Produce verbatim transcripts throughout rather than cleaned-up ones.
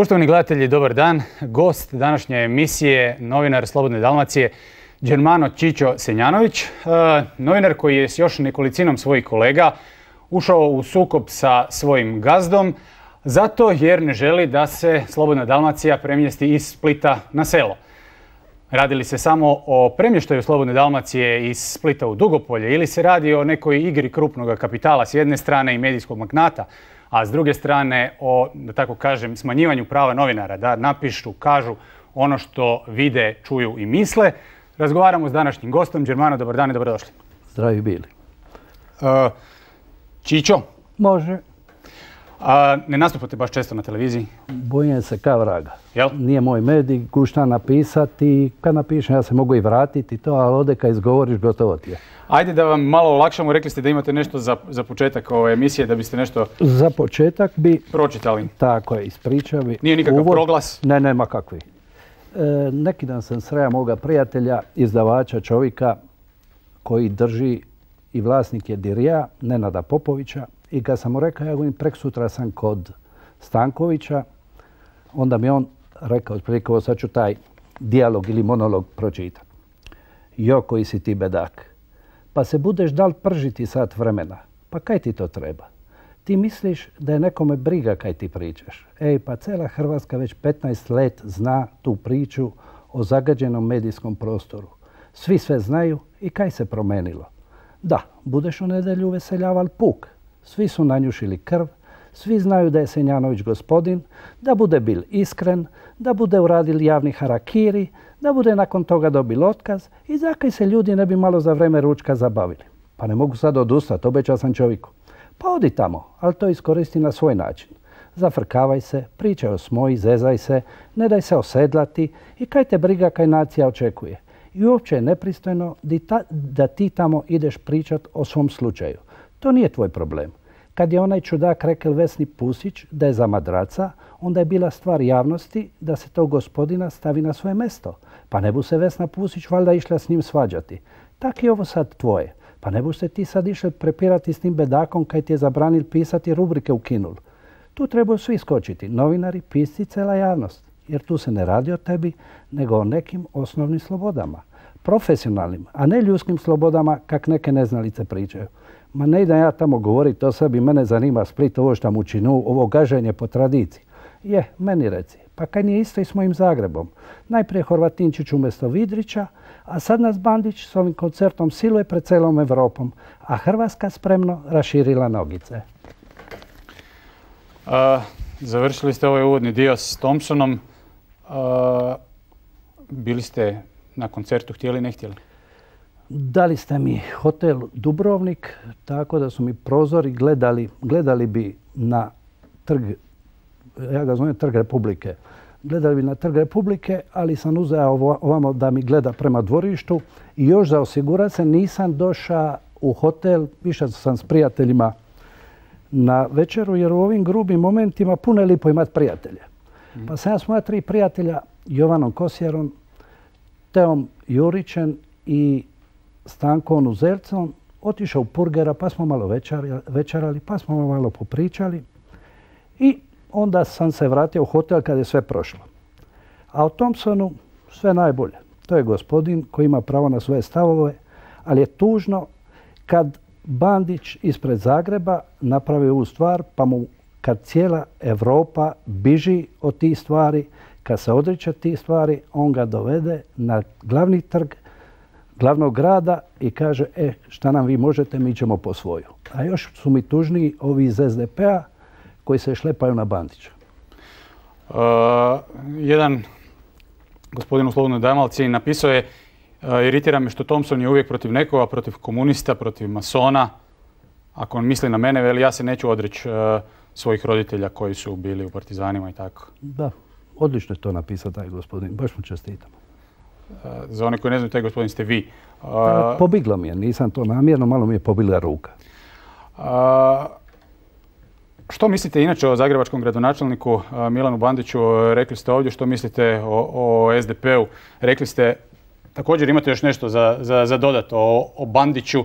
Poštovani gledatelji, dobar dan. Gost današnje emisije, novinar Slobodne Dalmacije, Germano Čičo Senjanović. Novinar koji je s još nekolicinom svojih kolega ušao u sukob sa svojim gazdom zato jer ne želi da se Slobodna Dalmacija premjesti iz Splita na selo. Radi li se samo o premještaju Slobodne Dalmacije iz Splita u Dugopolje ili se radi o nekoj igri krupnog kapitala s jedne strane i medijskog magnata, a s druge strane o, da tako kažem, smanjivanju prava novinara da napišu, kažu ono što vide, čuju i misle. Razgovaramo s današnjim gostom. Germano, dobar dan i dobrodošli. Zdravi bili. Uh, Čičo? Može. A, ne nastupate baš često na televiziji? Bojim se kao vraga. Jel? Nije moj medij, kušta napisati. Kad napišem ja se mogu i vratiti to, ali ovdje kad izgovoriš gotovo ti je. Ajde da vam malo olakšamo. Rekli ste da imate nešto za, za početak ove emisije, da biste nešto Za početak bi... pročitali. Tako je, ispričao bi. Nije nikakav uvod. proglas? Ne, nema kakvi. E, neki dan sam sreo moga prijatelja, izdavača, čovjeka koji drži i vlasnik je Dirija, Nenada Popovića. I kad sam mu rekao, ja govorim, preksutra sam kod Stankovića, onda mi on rekao, otprilike, ovo sad ću taj dijalog ili monolog pročitati. Jo, koji si ti bedak. Pa se budeš dal pržiti sat vremena. Pa kaj ti to treba? Ti misliš da je nekome briga kaj ti pričaš. Ej, pa cela Hrvatska već petnaest let zna tu priču o zagađenom medijskom prostoru. Svi sve znaju i kaj se promenilo. Da, budeš u nedjelju uveseljaval puk. Svi su nanjušili krv, svi znaju da je Senjanović gospodin, da bude bil iskren, da bude uradil javni harakiri, da bude nakon toga dobil otkaz i zakaj se ljudi ne bi malo za vreme ručka zabavili. Pa ne mogu sad odustati, obećao sam čovjeku. Pa odi tamo, ali to iskoristi na svoj način. Zafrkavaj se, pričaj o smoji, zezaj se, ne daj se osedlati i kaj te briga kaj nacija očekuje. I uopće je nepristojno da ti tamo ideš pričat o svom slučaju. To nije tvoj problem. Kad je onaj čudak rekel Vesni Pusić da je za madraca, onda je bila stvar javnosti da se tog gospodina stavi na svoje mesto. Pa ne bu se Vesna Pusić valjda išla s njim svađati. Tak je ovo sad tvoje. Pa ne bu se ti sad išli prepirati s tim bedakom kaj ti je zabranil pisati rubrike u Kinul. Tu trebaju svi skočiti, novinari, pisci, cela javnost. Jer tu se ne radi o tebi, nego o nekim osnovnim slobodama. Profesionalnim, a ne ljudskim slobodama kak neke neznalice pričaju. Ma ne idem ja tamo govoriti o sebi, mene zanima Split, ovo što mu činu, ovo gaženje po tradiciji. Je, meni reci, pa kaj nije isto i s mojim Zagrebom. Najprije Horvatinčić umjesto Vidrića, a sad nas Bandić s ovim koncertom siluje pred celom Evropom, a Hrvatska spremno raširila nogice. Uh, završili ste ovaj uvodni dio s Thompsonom. Uh, bili ste na koncertu, htjeli, ne htjeli? Dali ste mi hotel Dubrovnik, tako da su mi prozori gledali, gledali bi na trg, ja ga zovem Trg Republike, gledali bi na Trg Republike, ali sam uzeo ovamo da mi gleda prema dvorištu i još za osigurat se nisam došao u hotel, više sam s prijateljima na večeru, jer u ovim grubim momentima puno je lipo imati prijatelje. Mm. Pa sam ja s moja tri prijatelja, Jovanom Kosjerom, Teom Jurićem i Stankom Uzercom, otišao u Purgera, pa smo malo večerali, pa smo malo popričali i onda sam se vratio u hotel kad je sve prošlo. A o Thompsonu sve najbolje. To je gospodin koji ima pravo na svoje stavove, ali je tužno kad Bandić ispred Zagreba napravi ovu stvar, pa mu kad cijela Evropa biži od tih stvari, kad se odriče tih stvari, on ga dovede na glavni trg glavnog grada i kaže, e, šta nam vi možete, mi ćemo po svoju. A još su mi tužniji ovi iz S D P-a koji se šlepaju na Bandića. Uh, jedan gospodin u Slobodnoj Dalmaciji napisao je, uh, iritira me što Thompson je uvijek protiv nekoga, protiv komunista, protiv masona. Ako on misli na mene, veli, ja se neću odreći uh, svojih roditelja koji su bili u partizanima i tako. Da, odlično je to napisao taj gospodin, baš mu čestitam. Za one koji ne znaju, taj gospodin ste vi. Uh, Pobiglo mi je, nisam to namjerno, malo mi je pobila ruka. Uh, što mislite inače o zagrebačkom gradonačelniku uh, Milanu Bandiću? Rekli ste ovdje što mislite o, o S D P-u. Rekli ste, također imate još nešto za, za, za dodat o, o Bandiću.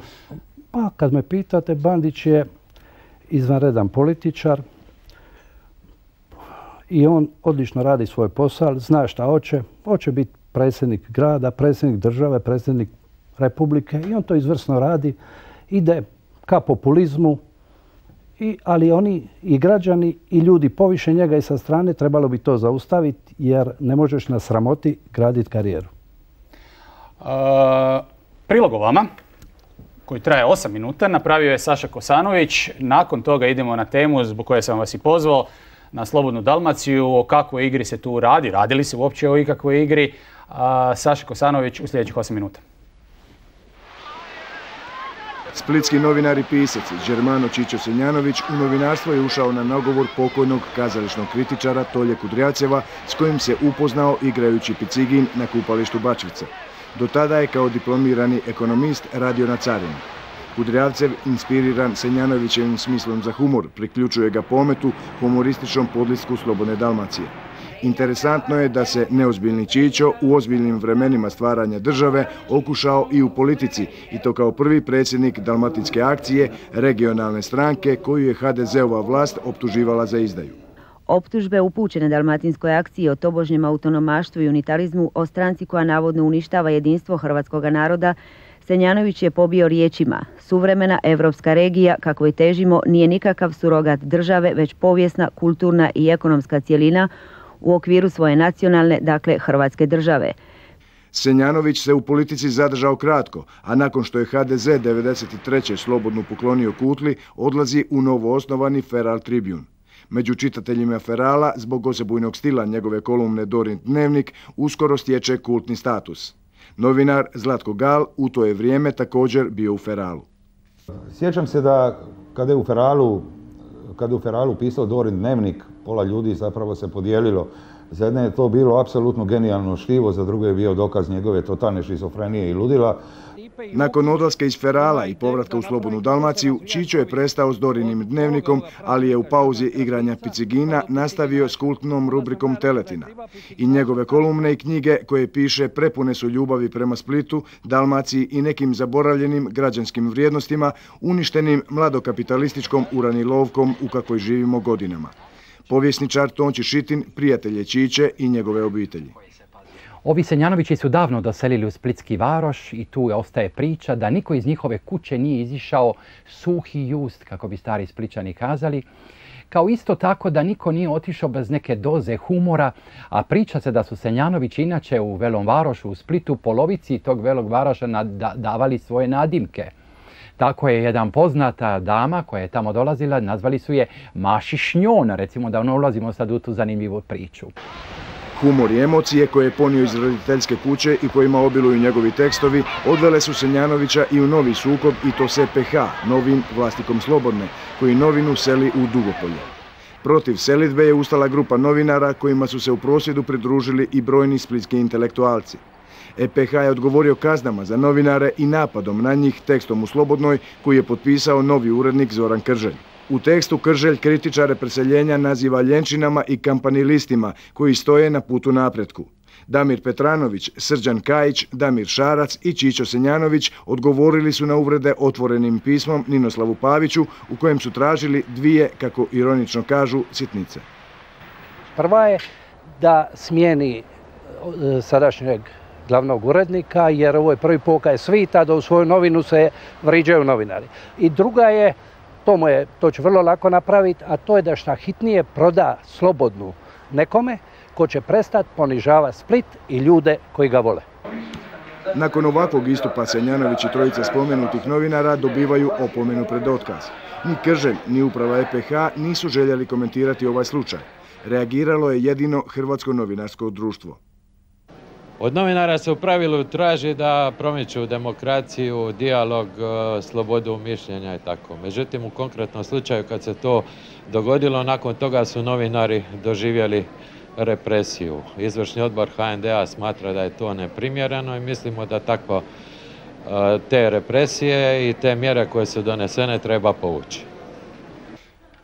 Pa kad me pitate, Bandić je izvanredan političar. i on odlično radi svoj posao, zna šta hoće. Hoće biti predsjednik grada, predsjednik države, predsjednik republike i on to izvrsno radi. Ide ka populizmu, i, ali oni i građani i ljudi poviše njega i sa strane trebalo bi to zaustaviti jer ne možeš na sramoti graditi karijeru. Uh, prilog o vama, koji traje osam minuta, napravio je Saša Kosanović. Nakon toga idemo na temu zbog koje sam vas i pozvao, na Slobodnu Dalmaciju, o kakvoj igri se tu radi, radi li se uopće o ikakvoj igri. Uh, Saša Kosanović u sljedećih osam minuta. Splitski novinar i pisac Germano Čičo Senjanović u novinarstvo je ušao na nagovor pokojnog kazališnog kritičara Tolje Kudrjavceva s kojim se upoznao igrajući picigin na kupalištu Bačvica. Do tada je kao diplomirani ekonomist radio na carini. Kudrjavcev, inspiriran Senjanovićevim smislom za humor, priključuje ga pometu humorističnom podlisku Slobodne Dalmacije. Interesantno je da se neozbiljni Čičo u ozbiljnim vremenima stvaranja države okušao i u politici, i to kao prvi predsjednik Dalmatinske akcije, regionalne stranke koju je ha de zeova vlast optuživala za izdaju. Optužbe upućene Dalmatinskoj akciji o tobožnjem autonomaštvu i unitarizmu, o stranci koja navodno uništava jedinstvo hrvatskog naroda, Senjanović je pobio riječima: suvremena evropska regija kakvoj težimo nije nikakav surogat države, već povijesna, kulturna i ekonomska cjelina u okviru svoje nacionalne, dakle Hrvatske države. Senjanović se u politici zadržao kratko, a nakon što je ha de ze devedeset treće slobodno poklonio Kutli, odlazi u novoosnovani Feral Tribune. Među čitateljima Ferala, zbog osebujnog stila njegove kolumne Dorin dnevnik, uskoro stječe kultni status. Novinar Zlatko Gal u to je vrijeme također bio u Feralu. Sjećam se da kada je u Feralu, kada je u Feralu pisao Dorin dnevnik, pola ljudi zapravo se podijelilo. Za jedne je to bilo apsolutno genijalno štivo, za druge je bio dokaz njegove totalne šizofrenije i ludila. Nakon odlaska iz Ferala i povratka u Slobodnu Dalmaciju, Čičo je prestao s Dorinim dnevnikom, ali je u pauzi igranja picigina nastavio s kultnom rubrikom Teletina. I njegove kolumne i knjige koje piše prepune su ljubavi prema Splitu, Dalmaciji i nekim zaboravljenim građanskim vrijednostima, uništenim mladokapitalističkom uranilovkom u kakvoj živimo godinama. Povjesničar Tonči Šitin prijatelj je Čiče i njegove obitelji. Ovi Senjanovići su davno doselili u Splitski Varoš i tu ostaje priča da niko iz njihove kuće nije izišao suhi just, kako bi stari Spličani kazali, kao isto tako da niko nije otišao bez neke doze humora, a priča se da su Senjanovići inače u Velom Varošu u Splitu polovici tog Velog Varoša davali svoje nadimke. Tako je jedan poznata dama koja je tamo dolazila, nazvali su je Maši Šnjon, recimo da ono ulazimo sad u tu zanimljivu priču. Humor i emocije koje je ponio iz roditeljske kuće i kojima obiluju njegovi tekstovi odvele su Senjanovića i u novi sukob, i to s e pe ha, novim vlasnikom Slobodne, koji novinu seli u Dugopolje. Protiv selidbe je ustala grupa novinara kojima su se u prosvjedu pridružili i brojni splitski intelektualci. e pe ha je odgovorio kaznama za novinare i napadom na njih tekstom u Slobodnoj koji je potpisao novi urednik Zoran Krželj. U tekstu Krželj kritičare preseljenja naziva ljenčinama i kampanilistima koji stoje na putu napretku. Damir Petranović, Srđan Kajić, Damir Šarac i Čičo Senjanović odgovorili su na uvrede otvorenim pismom Ninoslavu Paviću u kojem su tražili dvije, kako ironično kažu, sitnice. Prva je da smijeni sadašnjeg glavnog urednika, jer ovo je prvi pokaj svita da u svoju novinu se vriđaju novinari. I druga je, to, mu je, to će vrlo lako napraviti, a to je da šta hitnije proda Slobodnu nekome ko će prestati ponižavati Split i ljude koji ga vole. Nakon ovakvog istupa Senjanović i trojica spomenutih novinara dobivaju opomenu pred otkaz. Ni Krželj, ni uprava e pe ha nisu željeli komentirati ovaj slučaj. Reagiralo je jedino Hrvatsko novinarsko društvo. Od novinara se u pravilu traži da promiču demokraciju, dijalog, slobodu mišljenja i tako. Međutim, u konkretnom slučaju kad se to dogodilo, nakon toga su novinari doživjeli represiju. Izvršni odbor ha en de a smatra da je to neprimjereno i mislimo da takvo te represije i te mjere koje su donesene treba povući.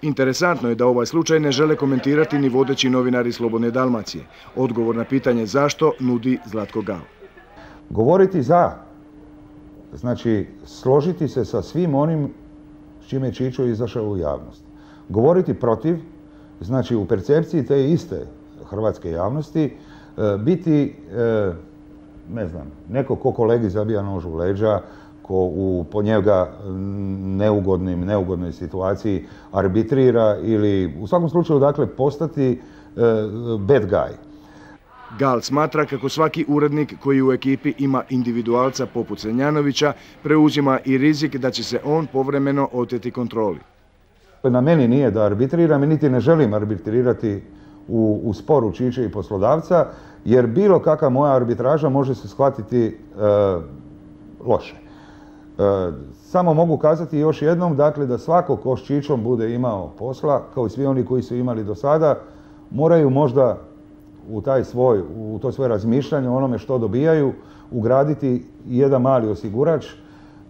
Interesantno je da ovaj slučaj ne žele komentirati ni vodeći novinari Slobodne Dalmacije. Odgovor na pitanje zašto nudi Zlatko Gal. Govoriti za, znači složiti se sa svim onim s čime je Čičo izašao u javnost. Govoriti protiv znači u percepciji te iste hrvatske javnosti biti, ne znam, neko ko kolegi zabija nož u leđa, ko u po njega neugodnim, neugodnoj situaciji arbitrira ili u svakom slučaju dakle postati bad guy. Gal smatra kako svaki urednik koji u ekipi ima individualca poput Senjanovića preuzima i rizik da će se on povremeno oteti kontroli. Na meni nije da arbitriram i niti ne želim arbitrirati u, u sporu Čiče i poslodavca, jer bilo kakva moja arbitraža može se shvatiti e, loše. E, samo mogu kazati još jednom, dakle, da svako ko s Čičom bude imao posla, kao i svi oni koji su imali do sada, moraju možda u, taj svoj, u to svoje razmišljanje o onome što dobijaju ugraditi jedan mali osigurač.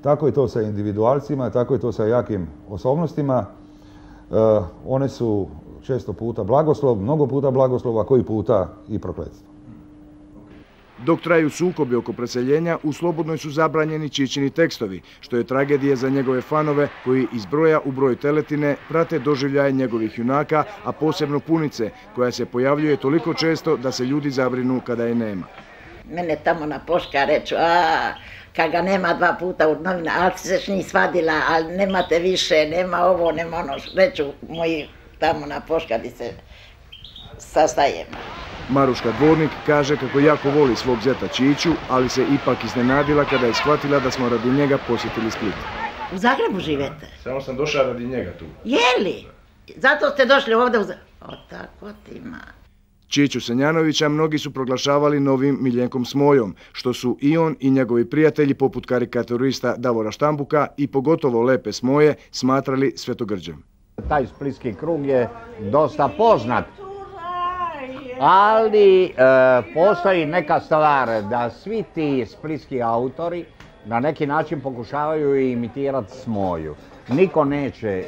Tako je to sa individualcima, tako je to sa jakim osobnostima. E, one su često puta blagoslov, mnogo puta blagoslov, a koji puta i prokletstvo. Dok traju sukobi oko preseljenja, u Slobodnoj su zabranjeni Čičini tekstovi, što je tragedija za njegove fanove koji iz broja u broj teletine prate doživljaje njegovih junaka, a posebno Punice, koja se pojavljuje toliko često da se ljudi zabrinu kada je nema. Mene tamo na Poška reču, a kad ga nema dva puta u novina, ali si se njih svadila, ali nemate više, nema ovo, nema ono, reću moji tamo na Poška gdje se sastajemo. Maruška Dvornik kaže kako jako voli svog zeta Čiču, ali se ipak iznenadila kada je shvatila da smo radi njega posjetili Split. U Zagrebu živete? Samo sam došao radi njega tu. Jeli? Zato ste došli ovdje u Zagrebu? O, tako ti ima. Čiču Senjanovića mnogi su proglašavali novim Miljenkom Smojom, što su i on i njegovi prijatelji poput karikaturista Davora Štambuka i pogotovo Lepe Smoje smatrali svetogrđem. Taj splitski krug je dosta poznat, ali e, postoji neka stvar da svi ti splitski autori na neki način pokušavaju imitirati Smoju. Niko neće e,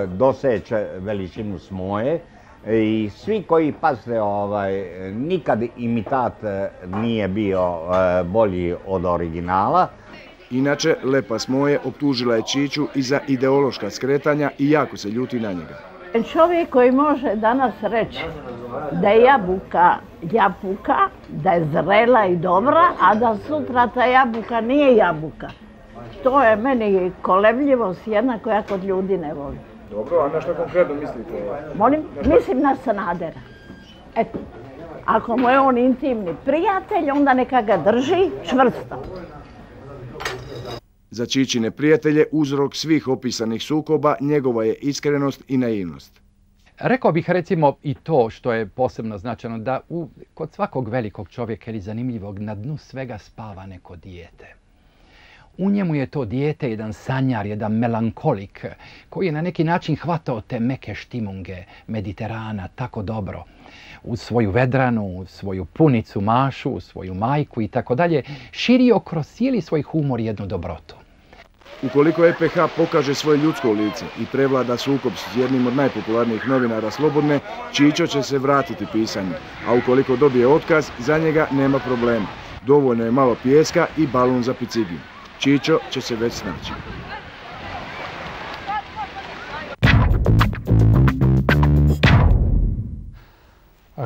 doseći veličinu Smoje i svi koji, pazite, ovaj, nikad imitat nije bio e, bolji od originala. Inače, Lepa Smoje optužila je Čiču i za ideološka skretanja i jako se ljuti na njega. Čovjek koji može danas reći da je jabuka jabuka, da je zrela i dobra, a da sutra ta jabuka nije jabuka. To je meni kolebljivost jedna koja kod ljudi ne voli. Dobro, a na što konkretno mislite? Molim, mislim na Sanadera. Eto, ako mu je on intimni prijatelj, onda neka ga drži čvrsto. Za Čičine prijatelje uzrok svih opisanih sukoba njegova je iskrenost i naivnost. Rekao bih recimo i to što je posebno značajno, da u, kod svakog velikog čovjeka ili zanimljivog na dnu svega spava neko dijete. U njemu je to dijete jedan sanjar, jedan melankolik koji je na neki način hvatao te meke štimunge Mediterana tako dobro. U svoju Vedranu, u svoju Punicu, Mašu, u svoju majku i tako dalje, širio kroz cijeli svoj humor jednu dobrotu. Ukoliko E P H pokaže svoje ljudsko lice i prevlada sukob s jednim od najpopularnijih novinara Slobodne, Čičo će se vratiti pisanju, a ukoliko dobije otkaz, za njega nema problema. Dovoljno je malo pijeska i balon za picigin. Čičo će se već snaći.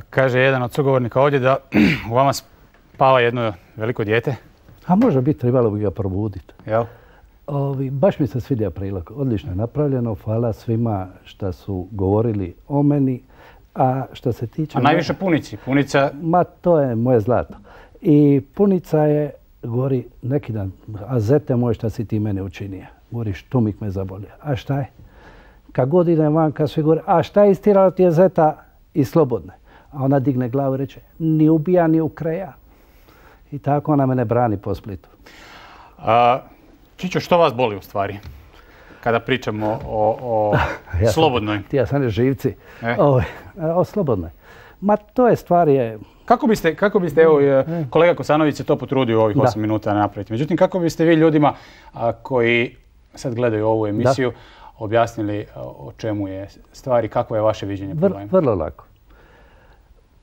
Kaže jedan od sugovornika ovdje da u vama spava jedno veliko dijete. A može biti, trebalo bi ga probuditi. Jel? Ovi, baš mi se svidio prilog. Odlično je napravljeno. Hvala svima što su govorili o meni. A što se tiče... A najviše Punici. Punica... Ma, to je moje zlato. I Punica je, govori neki dan, a zete moj šta si ti mene učinio. Govori, štumik me zabolio. A šta je? Kad god idem van, kad svi govori, a šta je istirala ti je zeta i Slobodne? A ona digne glavu i reče, ni ubija, ni ukreja. I tako ona mene brani po Splitu. A, Čičo, što vas boli u stvari? Kada pričamo o, o ja Slobodnoj. Ti ja sam živci. E? O, o Slobodnoj. Ma to je stvar je... Kako biste, kako biste evo, e. kolega Kosanović se to potrudio u ovih da. osam minuta napraviti. Međutim, kako biste vi ljudima a, koji sad gledaju ovu emisiju da. objasnili o čemu je stvar i kako je vaše viđenje problema? Vr, vrlo lako.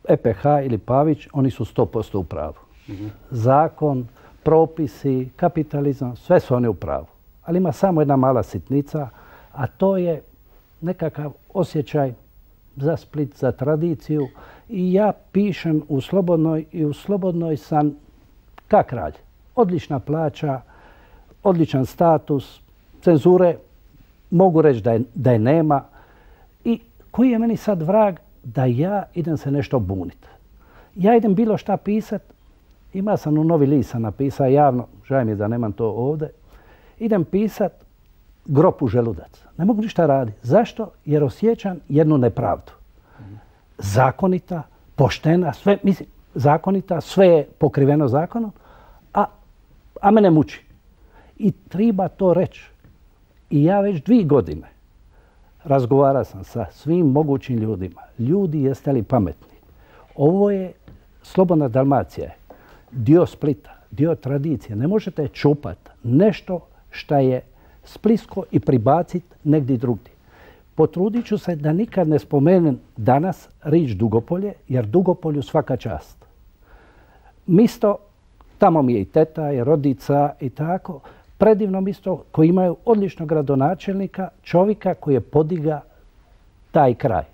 E P H ili Pavić, oni su sto posto u pravu. Mm-hmm. Zakon, propisi, kapitalizam, sve su oni u pravu. Ali ima samo jedna mala sitnica, a to je nekakav osjećaj za Split, za tradiciju i ja pišem u Slobodnoj i u Slobodnoj sam ka kralj. Odlična plaća, odličan status, cenzure, mogu reći da je, da je nema. I koji je meni sad vrag da ja idem se nešto buniti? Ja idem bilo šta pisat, ima sam u Novi list sam napisao javno, žao mi je da nemam to ovdje, idem pisat grob u želudac. Ne mogu ništa raditi. Zašto? Jer osjećam jednu nepravdu. Zakonita, poštena, sve, mislim, zakonita, sve je pokriveno zakonom, a, a mene muči. I treba to reći. I ja već dvije godine razgovarao sam sa svim mogućim ljudima. Ljudi, jeste li pametni? Ovo je Slobodna Dalmacija, dio Splita, dio tradicije. Ne možete čupati nešto što je splisko i pribaciti negdje drugdje. Potrudit ću se da nikad ne spomenem danas riječ Dugopolje, jer Dugopolju svaka čast. Misto, tamo mi je i teta, i rodica i tako, predivno misto koji imaju odličnog gradonačelnika, čovjeka koji je podiga taj kraj.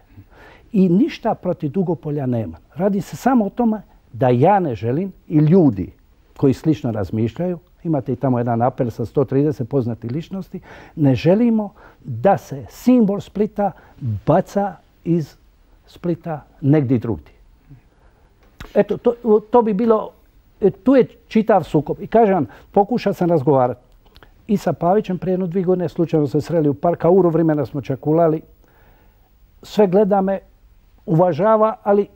I ništa protiv Dugopolja nema. Radi se samo o tome da ja ne želim i ljudi koji slično razmišljaju, imate i tamo jedan apel sa sto trideset poznatih ličnosti, ne želimo da se simbol Splita baca iz Splita negdje drugdje. Eto, to, to bi bilo, tu je čitav sukob. I kažem, pokušao sam razgovarati i sa Pavićem prije jedno dvije godine, slučajno se sreli u parka, uru vremena smo čakulali, sve gleda me, uvažava, ali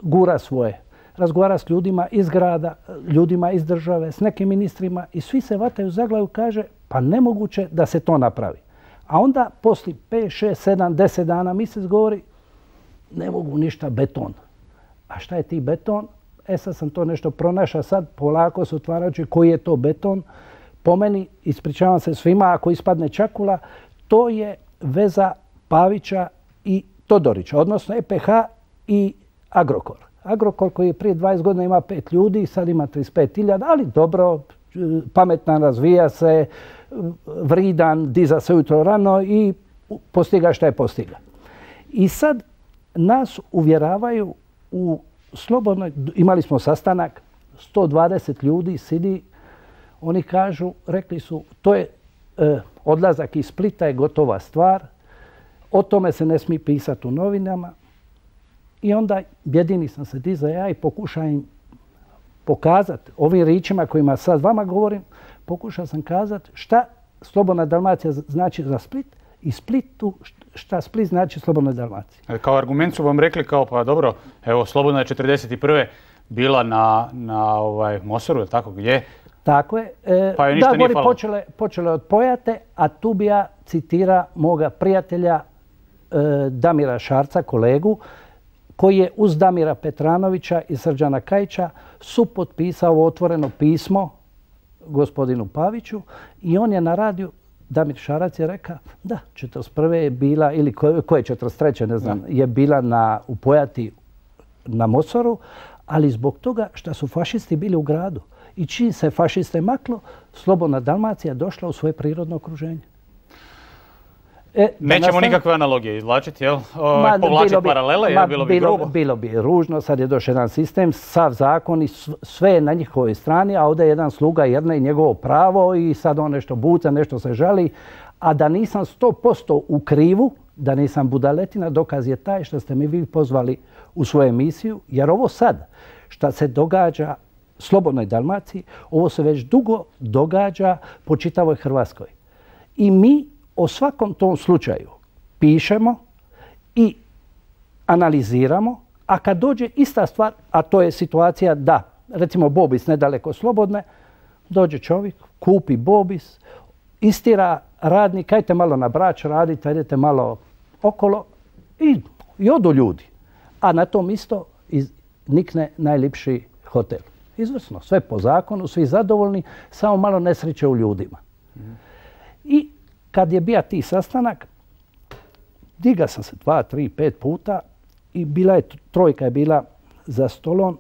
gura svoje. Razgovara s ljudima iz grada, ljudima iz države, s nekim ministrima i svi se vataju za glavu, kaže pa nemoguće da se to napravi. A onda poslije pet, šest, sedam, deset dana mjesec govori ne mogu ništa, beton. A šta je ti beton? E sad sam to nešto pronašao, sad polako se otvarajući koji je to beton. Po meni, ispričavam se svima ako ispadne čakula, to je veza Pavića i Todorića, odnosno E P H i Agrokor. Agrokor koji je prije dvadeset godina ima pet ljudi, sad ima trideset pet hiljada, ali dobro, pametan, razvija se, vridan, diza se ujutro rano i postiga šta je postiga. I sad nas uvjeravaju u Slobodnoj, imali smo sastanak, sto dvadeset ljudi sidi, oni kažu, rekli su, to je e, odlazak iz Splita je gotova stvar, o tome se ne smije pisati u novinama. I onda jedini sam se dizao ja i pokušao im pokazati ovim ričima kojima sad vama govorim, pokušao sam kazati šta Slobodna Dalmacija znači za Split i Splitu šta Split znači Slobodnoj Dalmaciji. Kao argument su vam rekli kao pa dobro, evo Slobodna je četrdeset prve bila na, na ovaj, Mosoru, je tako gdje? Tako je. E, pa da, gori počele, počele od Pojate, a tu bi ja citira moga prijatelja e, Damira Šarca, kolegu, koji je uz Damira Petranovića i Srđana Kajića supotpisao otvoreno pismo gospodinu Paviću i on je na radiju, Damir Šarac je rekao da, četrdeset prve je bila, ili koje četrdeset treće ne znam, je bila na, u Pojati na Mosoru, ali zbog toga što su fašisti bili u gradu. I čim se fašiste maklo, Slobodna Dalmacija došla u svoje prirodno okruženje. E, Nećemo nastavim... nikakve analogije izvlačiti, jel? O, povlačiti bi, paralele, jel? Bilo bi bilo, grubo? Bilo bi ružno, sad je došao jedan sistem, sav zakon i sve je na njihovoj strani, a ovdje je jedan sluga jedne i njegovo pravo i sad on nešto buca, nešto se žali. A da nisam sto posto u krivu, da nisam budaletina, dokaz je taj što ste mi vi pozvali u svoju emisiju, jer ovo sad što se događa Slobodnoj Dalmaciji, ovo se već dugo događa po čitavoj Hrvatskoj. I mi o svakom tom slučaju pišemo i analiziramo, a kad dođe ista stvar, a to je situacija da, recimo Bobis nedaleko Slobodne, dođe čovjek, kupi Bobis, istira radnik, ajte malo na Brač radite, idete malo okolo i, i odu ljudi. A na tom isto iz, nikne najljepši hotel. Izvrsno, sve po zakonu, svi zadovoljni, samo malo nesreće u ljudima. Mm. I kad je bio ti sastanak, diga sam se dva, tri, pet puta i bila je, trojka je bila za stolom,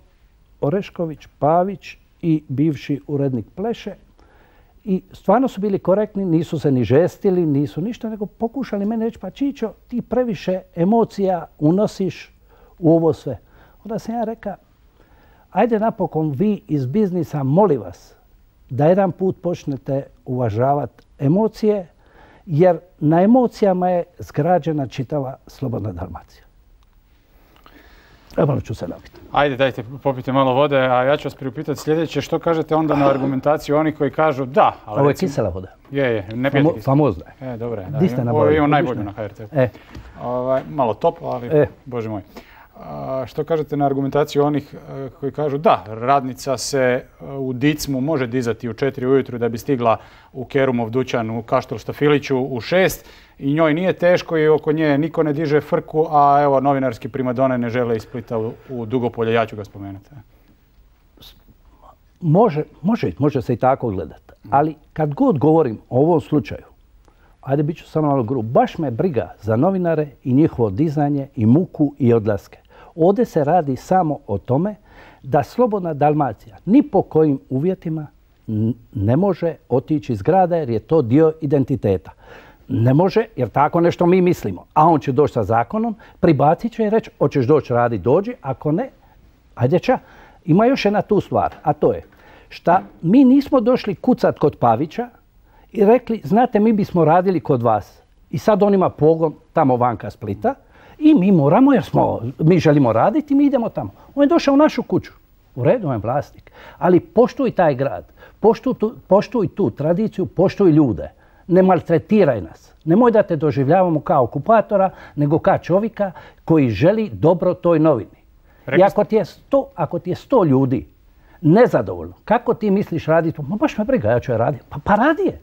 Orešković, Pavić i bivši urednik Pleše. I stvarno su bili korektni, nisu se ni žestili, nisu ništa, nego pokušali mene reći, pa Čičo, ti previše emocija unosiš u ovo sve. Onda sam ja rekao, ajde napokon vi iz biznisa, molim vas, da jedan put počnete uvažavati emocije, jer na emocijama je zgrađena čitava Slobodna Dalmacija. Evo ću se napiti. Ajde, dajte, popite malo vode, a ja ću vas priupitati sljedeće. Što kažete onda na argumentaciju oni koji kažu da, ali Ovo je recimo... kisela voda. Je, je, ne pijete kisela. Famozna je. E, dobro je. Di ste Ovo nabavili? imamo najbolju na H R T. E. Ovaj, malo toplo, ali E. bože moj. A, što kažete na argumentaciju onih e, koji kažu da, radnica se e, u Dicmu može dizati u četiri ujutru da bi stigla u Kerumov dućan u Kaštel Štafiliću u šest i njoj nije teško i oko nje niko ne diže frku, a evo novinarski primadone ne žele iz Splita u, u Dugopolje, ja ću ga spomenuti. Može, može, može se i tako gledati, ali kad god govorim o ovom slučaju, ajde bit ću samo malo grub, baš me briga za novinare i njihovo dizanje i muku i odlaske. Ovdje se radi samo o tome da Slobodna Dalmacija ni po kojim uvjetima ne može otići iz grada jer je to dio identiteta. Ne može jer tako nešto mi mislimo. A on će doći sa zakonom, pribacit će i reći hoćeš doći radi, dođi, ako ne, ajde ča. Ima još jedna tu stvar, a to je šta mi nismo došli kucat kod Pavića i rekli, znate, mi bismo radili kod vas. I sad on ima pogon tamo vanka Splita i mi moramo, jer smo, mi želimo raditi, mi idemo tamo. On je došao u našu kuću. U redu, on je vlasnik. Ali poštuj taj grad, poštuj tu, poštuj tu tradiciju, poštuj ljude. Ne maltretiraj nas. Nemoj da te doživljavamo kao okupatora, nego kao čovjeka koji želi dobro toj novini. I ako ti je sto, ako ti je sto ljudi nezadovoljno, kako ti misliš raditi? Ma baš me briga, ja ću je raditi. Pa, pa radi je.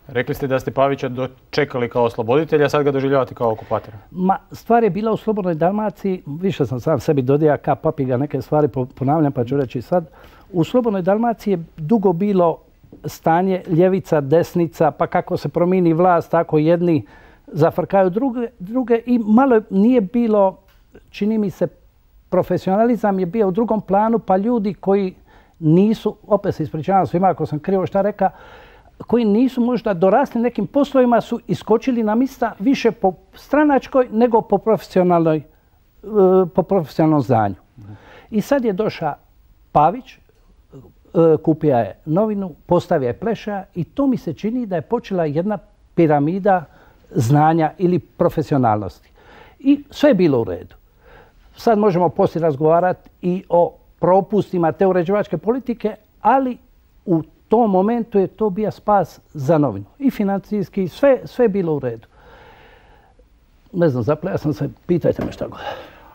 Rekli ste da ste Pavića dočekali kao osloboditelja, a sad ga doživljavate kao okupatora. Ma, stvar je bila u Slobodnoj Dalmaciji, više sam sam sebi dodija ka papiga neke stvari ponavljam, pa ću reći sad. U Slobodnoj Dalmaciji je dugo bilo stanje ljevica, desnica, pa kako se promijeni vlast, tako jedni zafrkaju druge, druge i malo nije bilo, čini mi se, profesionalizam je bio u drugom planu, pa ljudi koji nisu, opet se ispričavam svima ako sam krivo šta reka, koji nisu možda dorasli nekim poslovima su iskočili na mista više po stranačkoj nego po profesionalnoj, po profesionalnom znanju. I sad je došao Pavić, kupio je novinu, postavio je Pleša i to mi se čini da je počela jedna piramida znanja ili profesionalnosti. I sve je bilo u redu. Sad možemo poslije razgovarati i o propustima te uređivačke politike, ali u tom momentu je to bio spas za novinu. I financijski, sve, sve je bilo u redu. Ne znam, zapleja sam se, pitajte me šta god.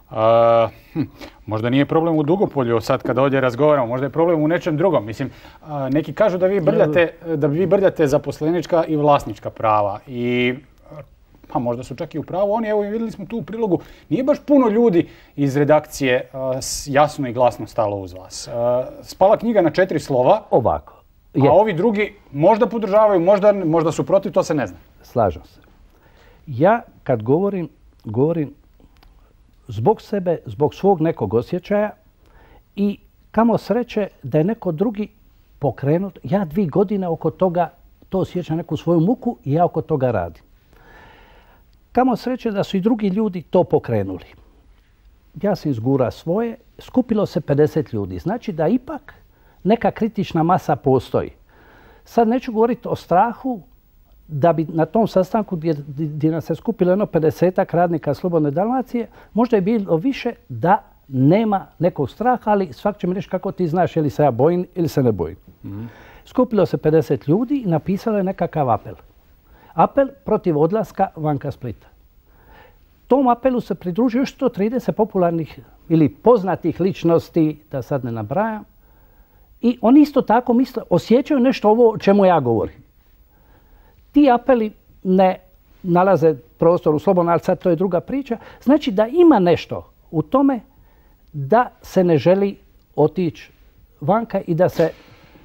A, hm, možda nije problem u Dugopolju sad kada ovdje razgovaramo, možda je problem u nečem drugom. Mislim, a, neki kažu da vi brljate, da vi brljate zaposlenička i vlasnička prava i pa možda su čak i u pravu oni, evo vidjeli smo tu u prilogu, nije baš puno ljudi iz redakcije a, jasno i glasno stalo uz vas. A, spala knjiga na četiri slova. Ovako. Je. A ovi drugi možda podržavaju, možda, možda su protiv, to se ne zna. Slažem se. Ja kad govorim, govorim zbog sebe, zbog svog nekog osjećaja i kamo sreće da je neko drugi pokrenut. Ja dvije godine oko toga, to osjećam neku svoju muku i ja oko toga radim. Kamo sreće da su i drugi ljudi to pokrenuli. Ja sam izgura svoje, skupilo se pedeset ljudi. Znači da ipak neka kritična masa postoji. Sad neću govoriti o strahu da bi na tom sastanku gdje, gdje nas se skupilo jedno pedesetak radnika Slobodne Dalmacije, možda je bilo više da nema nekog straha, ali svak će mi reći kako ti znaš je li se ja bojim ili se ne bojim. Mm-hmm. Skupilo se pedeset ljudi i napisalo je nekakav apel. Apel protiv odlaska vanka Splita. Tom apelu se pridružuje još sto trideset popularnih ili poznatih ličnosti, da sad ne nabrajam. I oni isto tako misle, osjećaju nešto ovo o čemu ja govorim. Ti apeli ne nalaze prostor u slobodno, ali sad to je druga priča. Znači da ima nešto u tome da se ne želi otići vanka i da se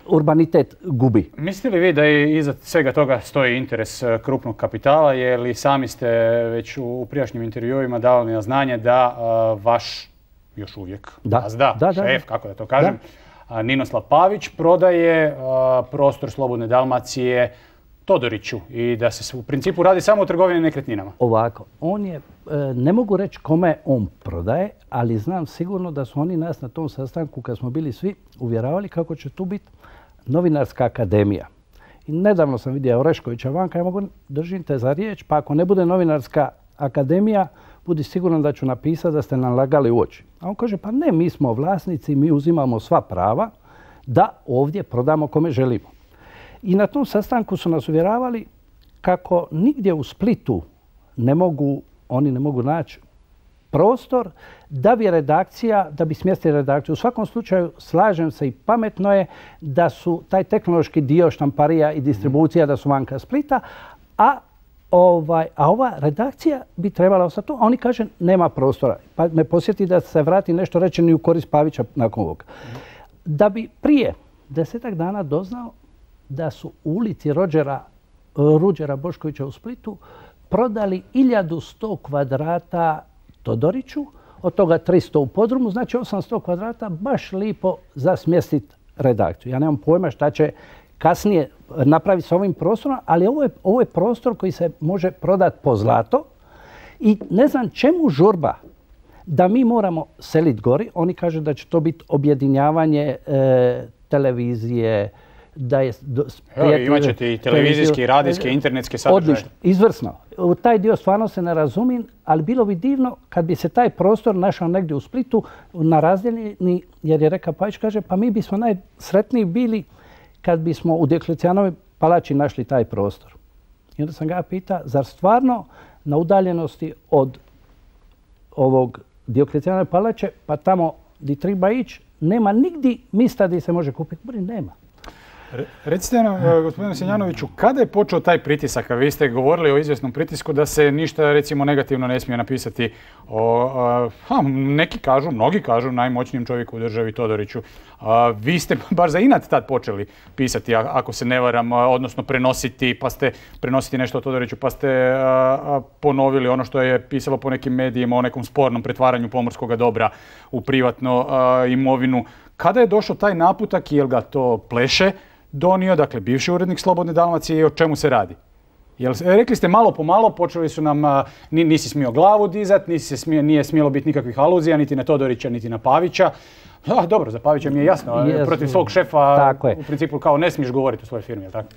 urbanitet gubi. Mislite li vi da je iza svega toga stoji interes krupnog kapitala, jer li sami ste već u prijašnjim intervjuima davali na znanje da uh, vaš još uvijek da. gazda, da, da, šef, da. kako da to kažem, Ninoslav Pavić prodaje prostor Slobodne Dalmacije Todoriću i da se u principu radi samo o trgovini nekretninama. Ovako, on je, ne mogu reći kome on prodaje, ali znam sigurno da su oni nas na tom sastanku, kad smo bili svi, uvjeravali kako će tu biti novinarska akademija. I nedavno sam vidio Oreškovića vanka, ja mogu držim te za riječ, pa ako ne bude novinarska akademija, budi siguran da ću napisati da ste nam lagali u oči. A on kaže, pa ne, mi smo vlasnici, mi uzimamo sva prava da ovdje prodamo kome želimo. I na tom sastanku su nas uvjeravali kako nigdje u Splitu ne mogu, oni ne mogu naći prostor da bi redakcija, da bi smjestili redakciju. U svakom slučaju slažem se i pametno je da su taj tehnološki dio štamparija i distribucija da su vanka Splita, a Ovaj, a ova redakcija bi trebala ostati tu, a oni kaže nema prostora. Pa me posjeti da se vrati nešto rečeno i u korist Pavića nakon ovoga. Da bi prije desetak dana doznao da su u ulici Rođera, Ruđera Boškovića u Splitu prodali hiljadu sto kvadrata Todoriću, od toga tristo u podrumu, znači osamsto kvadrata baš lipo za smjestiti redakciju. Ja nemam pojma šta će kasnije napraviti s ovim prostorom, ali ovo je, ovo je prostor koji se može prodati po zlato i ne znam čemu žurba da mi moramo seliti gori. Oni kažu da će to biti objedinjavanje e, televizije, da je... Evo, imat ćete i televizijske, i radijske, internetske sadržaje. Odlično, izvrsno. U taj dio stvarno se ne razumijem, ali bilo bi divno kad bi se taj prostor našao negdje u Splitu na razdjeljeni, jer je rekao Pavić, kaže, pa mi bismo najsretniji bili kad bismo u Dioklecijanovoj palači našli taj prostor. I onda sam ga pitao, zar stvarno na udaljenosti od ovog Dioklecijanove palače, pa tamo di treba ići, nema nigdje mista gdje se može kupiti? Bori, nema. Recite nam, gospodine Senjanoviću, kada je počeo taj pritisak? A vi ste govorili o izvjesnom pritisku da se ništa, recimo, negativno ne smije napisati o, a, neki kažu, mnogi kažu, najmoćnijem čovjeku u državi Todoriću. A, vi ste bar za inat tad počeli pisati, ako se ne varam, odnosno prenositi, pa ste prenositi nešto o Todoriću, pa ste a, a, ponovili ono što je pisalo po nekim medijima o nekom spornom pretvaranju pomorskog dobra u privatnu a, imovinu. Kada je došao taj naputak i jel ga to Pleše donio, dakle bivši urednik Slobodne Dalmacije, i o čemu se radi? Jel, rekli ste malo po malo, počeli su nam, nisi smio glavu dizat, nisi smio, nije smjelo biti nikakvih aluzija, niti na Todorića, niti na Pavića. A, dobro, za Pavića mi je jasno, yes, protiv svog šefa u principu kao ne smiješ govoriti o svojoj firmi, je li tako?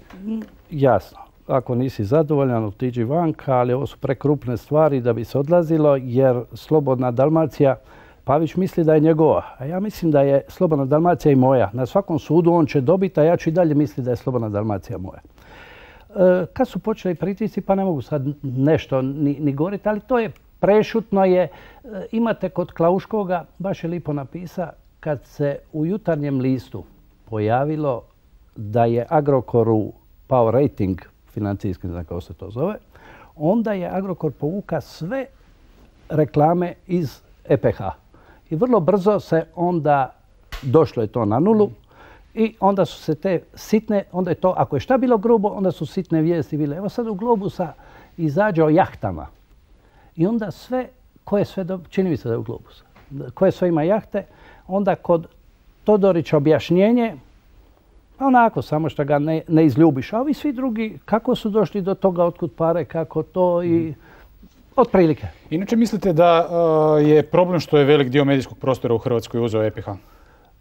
Jasno. Ako nisi zadovoljan, otiđi vanka, ali ovo su prekrupne stvari da bi se odlazilo, jer Slobodna Dalmacija, Pavić misli da je njegova, a ja mislim da je Slobodna Dalmacija i moja. Na svakom sudu on će dobiti, a ja ću i dalje misliti da je Slobodna Dalmacija moja. E, kad su počeli pritisci, pa ne mogu sad nešto ni, ni govoriti, ali to je prešutno je. E, imate kod Klauškoga, baš je lipo napisa, kad se u Jutarnjem listu pojavilo da je Agrokoru pao rating, financijski, ne znam kako se to zove, onda je Agrokor povuka sve reklame iz E P H. I vrlo brzo se onda došlo je to na nulu i onda su se te sitne, onda je to, ako je šta bilo grubo, onda su sitne vijesti bile. Evo sad u Globusa izađe o jahtama i onda sve, koje sve, čini mi se da je u Globusa, koje sve ima jahte, onda kod Todorića objašnjenje, onako samo što ga ne, ne izljubiš. A ovi svi drugi, kako su došli do toga, otkud pare, kako to i... Otprilike. Inače mislite da uh, je problem što je velik dio medijskog prostora u Hrvatskoj uzeo E P H?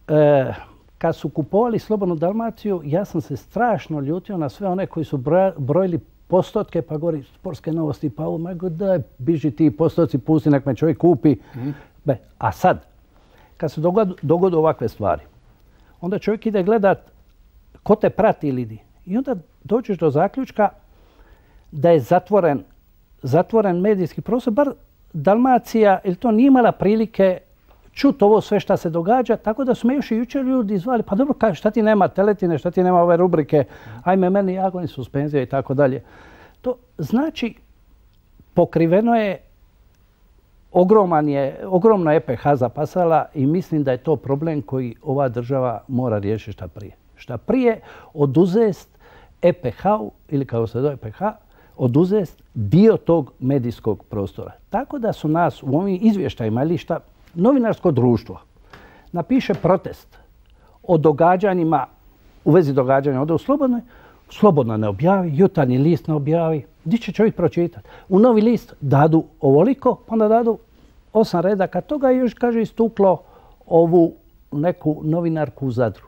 E, kad su kupovali Slobodnu Dalmaciju, ja sam se strašno ljutio na sve one koji su broja, brojili postotke, pa govori sportske novosti, pa ovo, majko, daj, biži ti postotci, pusti, nek me čovjek kupi. Mm. Be, a sad, kad se dogod, dogode ovakve stvari, onda čovjek ide gledat ko te prati ili di. I onda dođeš do zaključka da je zatvoren zatvoren medijski prostor, bar Dalmacija, ili to nije imala prilike čuti ovo sve šta se događa, tako da su me još i jučer ljudi zvali, pa dobro, kaj, šta ti nema teletine, šta ti nema ove rubrike, ajme meni jagoni, suspenzija i tako dalje. To znači, pokriveno je, ogroman je, ogromno E P H zapasala i mislim da je to problem koji ova država mora riješiti šta prije. Šta prije oduzest E P H-u, ili kao se zove E P H, oduzest dio tog medijskog prostora. Tako da su nas u ovim izvještajima ili šta, novinarsko društvo napiše protest o događanjima, u vezi događanja ovdje u Slobodnoj, Slobodna ne objavi, Jutarnji list ne objavi. Gdje će čovjek pročitati? U Novi list dadu ovoliko, onda dadu osam redaka toga i još, kaže, istuklo ovu neku novinarku u Zadru.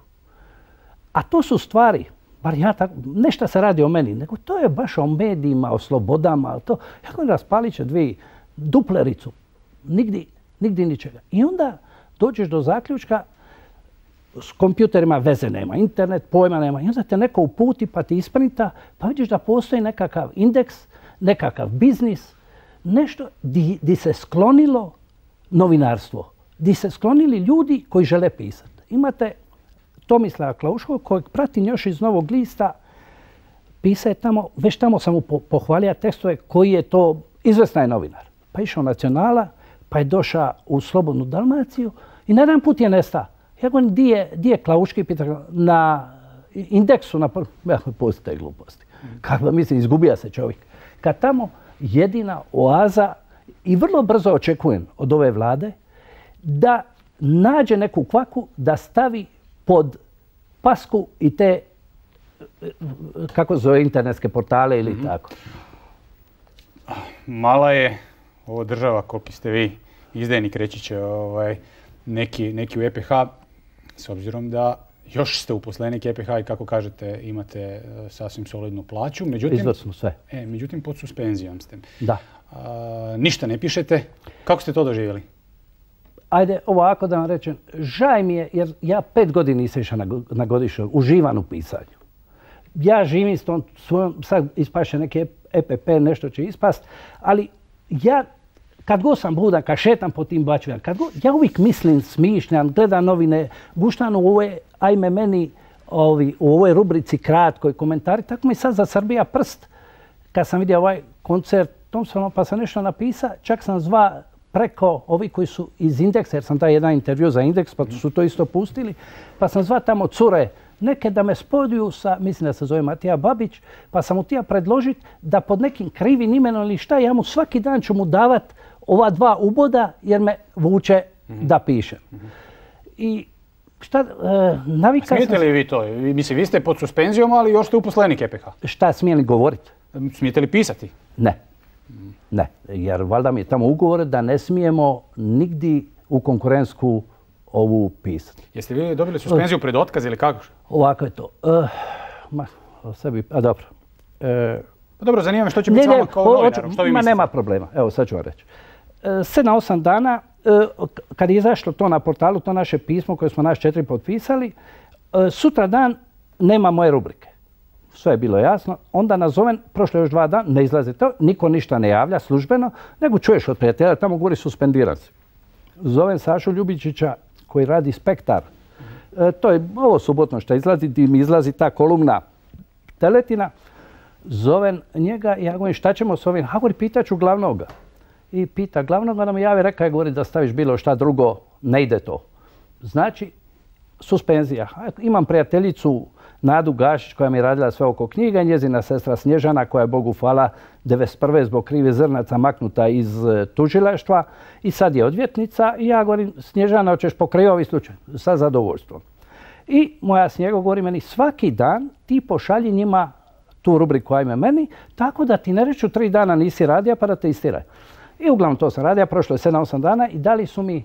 A to su stvari, bar ja tako, nešto se radi o meni, nego to je baš o medijima, o slobodama, to, ja govorim, raspalit će dvije duplericu, nigdje, nigdje ničega. I onda dođeš do zaključka, s kompjuterima veze nema, internet pojma nema, i onda te neko uputi pa ti isprinta, pa vidiš da postoji nekakav indeks, nekakav biznis, nešto di, di se sklonilo novinarstvo, di se sklonili ljudi koji žele pisati. Imate Tomislava Klauškog, kojeg pratim još iz Novog lista, pisao je tamo, već tamo sam mu pohvalio tekstove koji je to izvrstan novinar. Pa išao Nacionala, pa je došao u Slobodnu Dalmaciju i na jedan put je nestao. Ja govorim, di je, di je Klauški, pita, na indeksu, na ja, pustite gluposti. Kako mislim, izgubija se čovjek. Kad tamo jedina oaza, i vrlo brzo očekujem od ove vlade, da nađe neku kvaku, da stavi pod pasku i te, kako zove, internetske portale ili mm-hmm. tako. Mala je ovo država, koliki ste vi izdajnik, reći će ovaj, neki, neki u E P H, s obzirom da još ste uposlenik E P H i kako kažete imate sasvim solidnu plaću. Međutim, izvrsno sve. E, međutim, pod suspenzijom ste. Da. A, ništa ne pišete. Kako ste to doživjeli? Ajde, ovako da vam rečem, žaj mi je jer ja pet godina nisam išao na, na godišnju, uživan u pisanju. Ja živim s tom svojom, sad ispaše neki E P P, nešto će ispast, ali ja kad god sam budan, kad šetam po tim bačvinama, kad god, ja uvijek mislim, smišljam, gledam novine, guštam u ove, ajme meni, ovi, u ovoj rubrici kratkoj komentari, tako mi sad zasrbija prst. Kad sam vidio ovaj koncert Thompsona, pa sam nešto napisao, čak sam zva preko ovi koji su iz Indeksa, jer sam dao jedan intervju za Indeks, pa su to isto pustili, pa sam zva tamo cure, neke da me spojuju sa, mislim da se zove Matija Babić, pa sam mu tija predložiti da pod nekim krivim imenom ili šta, ja mu svaki dan ću mu davat ova dva uboda jer me vuče mm-hmm. da pišem. Mm-hmm. I šta, e, navika sam... Smijete li vi to? Mislim, vi ste pod suspenzijom, ali još ste uposlenik E P H. Šta, smijem li govoriti? Smijete li pisati? Ne. Ne, jer valjda mi je tamo ugovor da ne smijemo nigdje u konkurentsku ovu pisati. Jeste vi dobili suspenziju pred otkaz ili kako? Ovako je to. Uh, ma, o sebi, a dobro. Uh, pa dobro, zanima me što će biti s vama kao novinarom, što vi ma mislite? Nema problema, evo sad ću vam reći. Uh, sedam, osam dana, uh, kad je izašlo to na portalu, to naše pismo koje smo naš četiri potpisali, uh, sutra dan nema moje rubrike. Sve je bilo jasno. Onda nazovem, prošlo još dva dana, ne izlazi to, niko ništa ne javlja službeno, nego čuješ od prijatelja, tamo govori suspendiran si. Zovem Sašu Ljubičića koji radi Spektar. E, to je ovo subotno što izlazi, gdje mi izlazi ta kolumna Teletina. Zovem njega i ja govorim šta ćemo s ovim? A govori, pitaću glavnoga. I pita glavnoga da mi javi, reka je govori da staviš bilo šta drugo, ne ide to. Znači, suspenzija. Imam prijateljicu Nadu Gašić koja mi je radila sve oko knjiga, njezina sestra Snježana koja je Bogu hvala devedeset prve zbog krivih zrnaca maknuta iz tužilaštva i sad je odvjetnica i ja govorim Snježana hoćeš pokraj ovaj slučaj sa zadovoljstvom. I moja Snjego govori meni svaki dan ti pošalji njima tu rubriku ajme meni tako da ti ne reću tri dana nisi radija pa da te istiraju. I uglavnom to sam radija, prošlo je sedam osam dana i dali su mi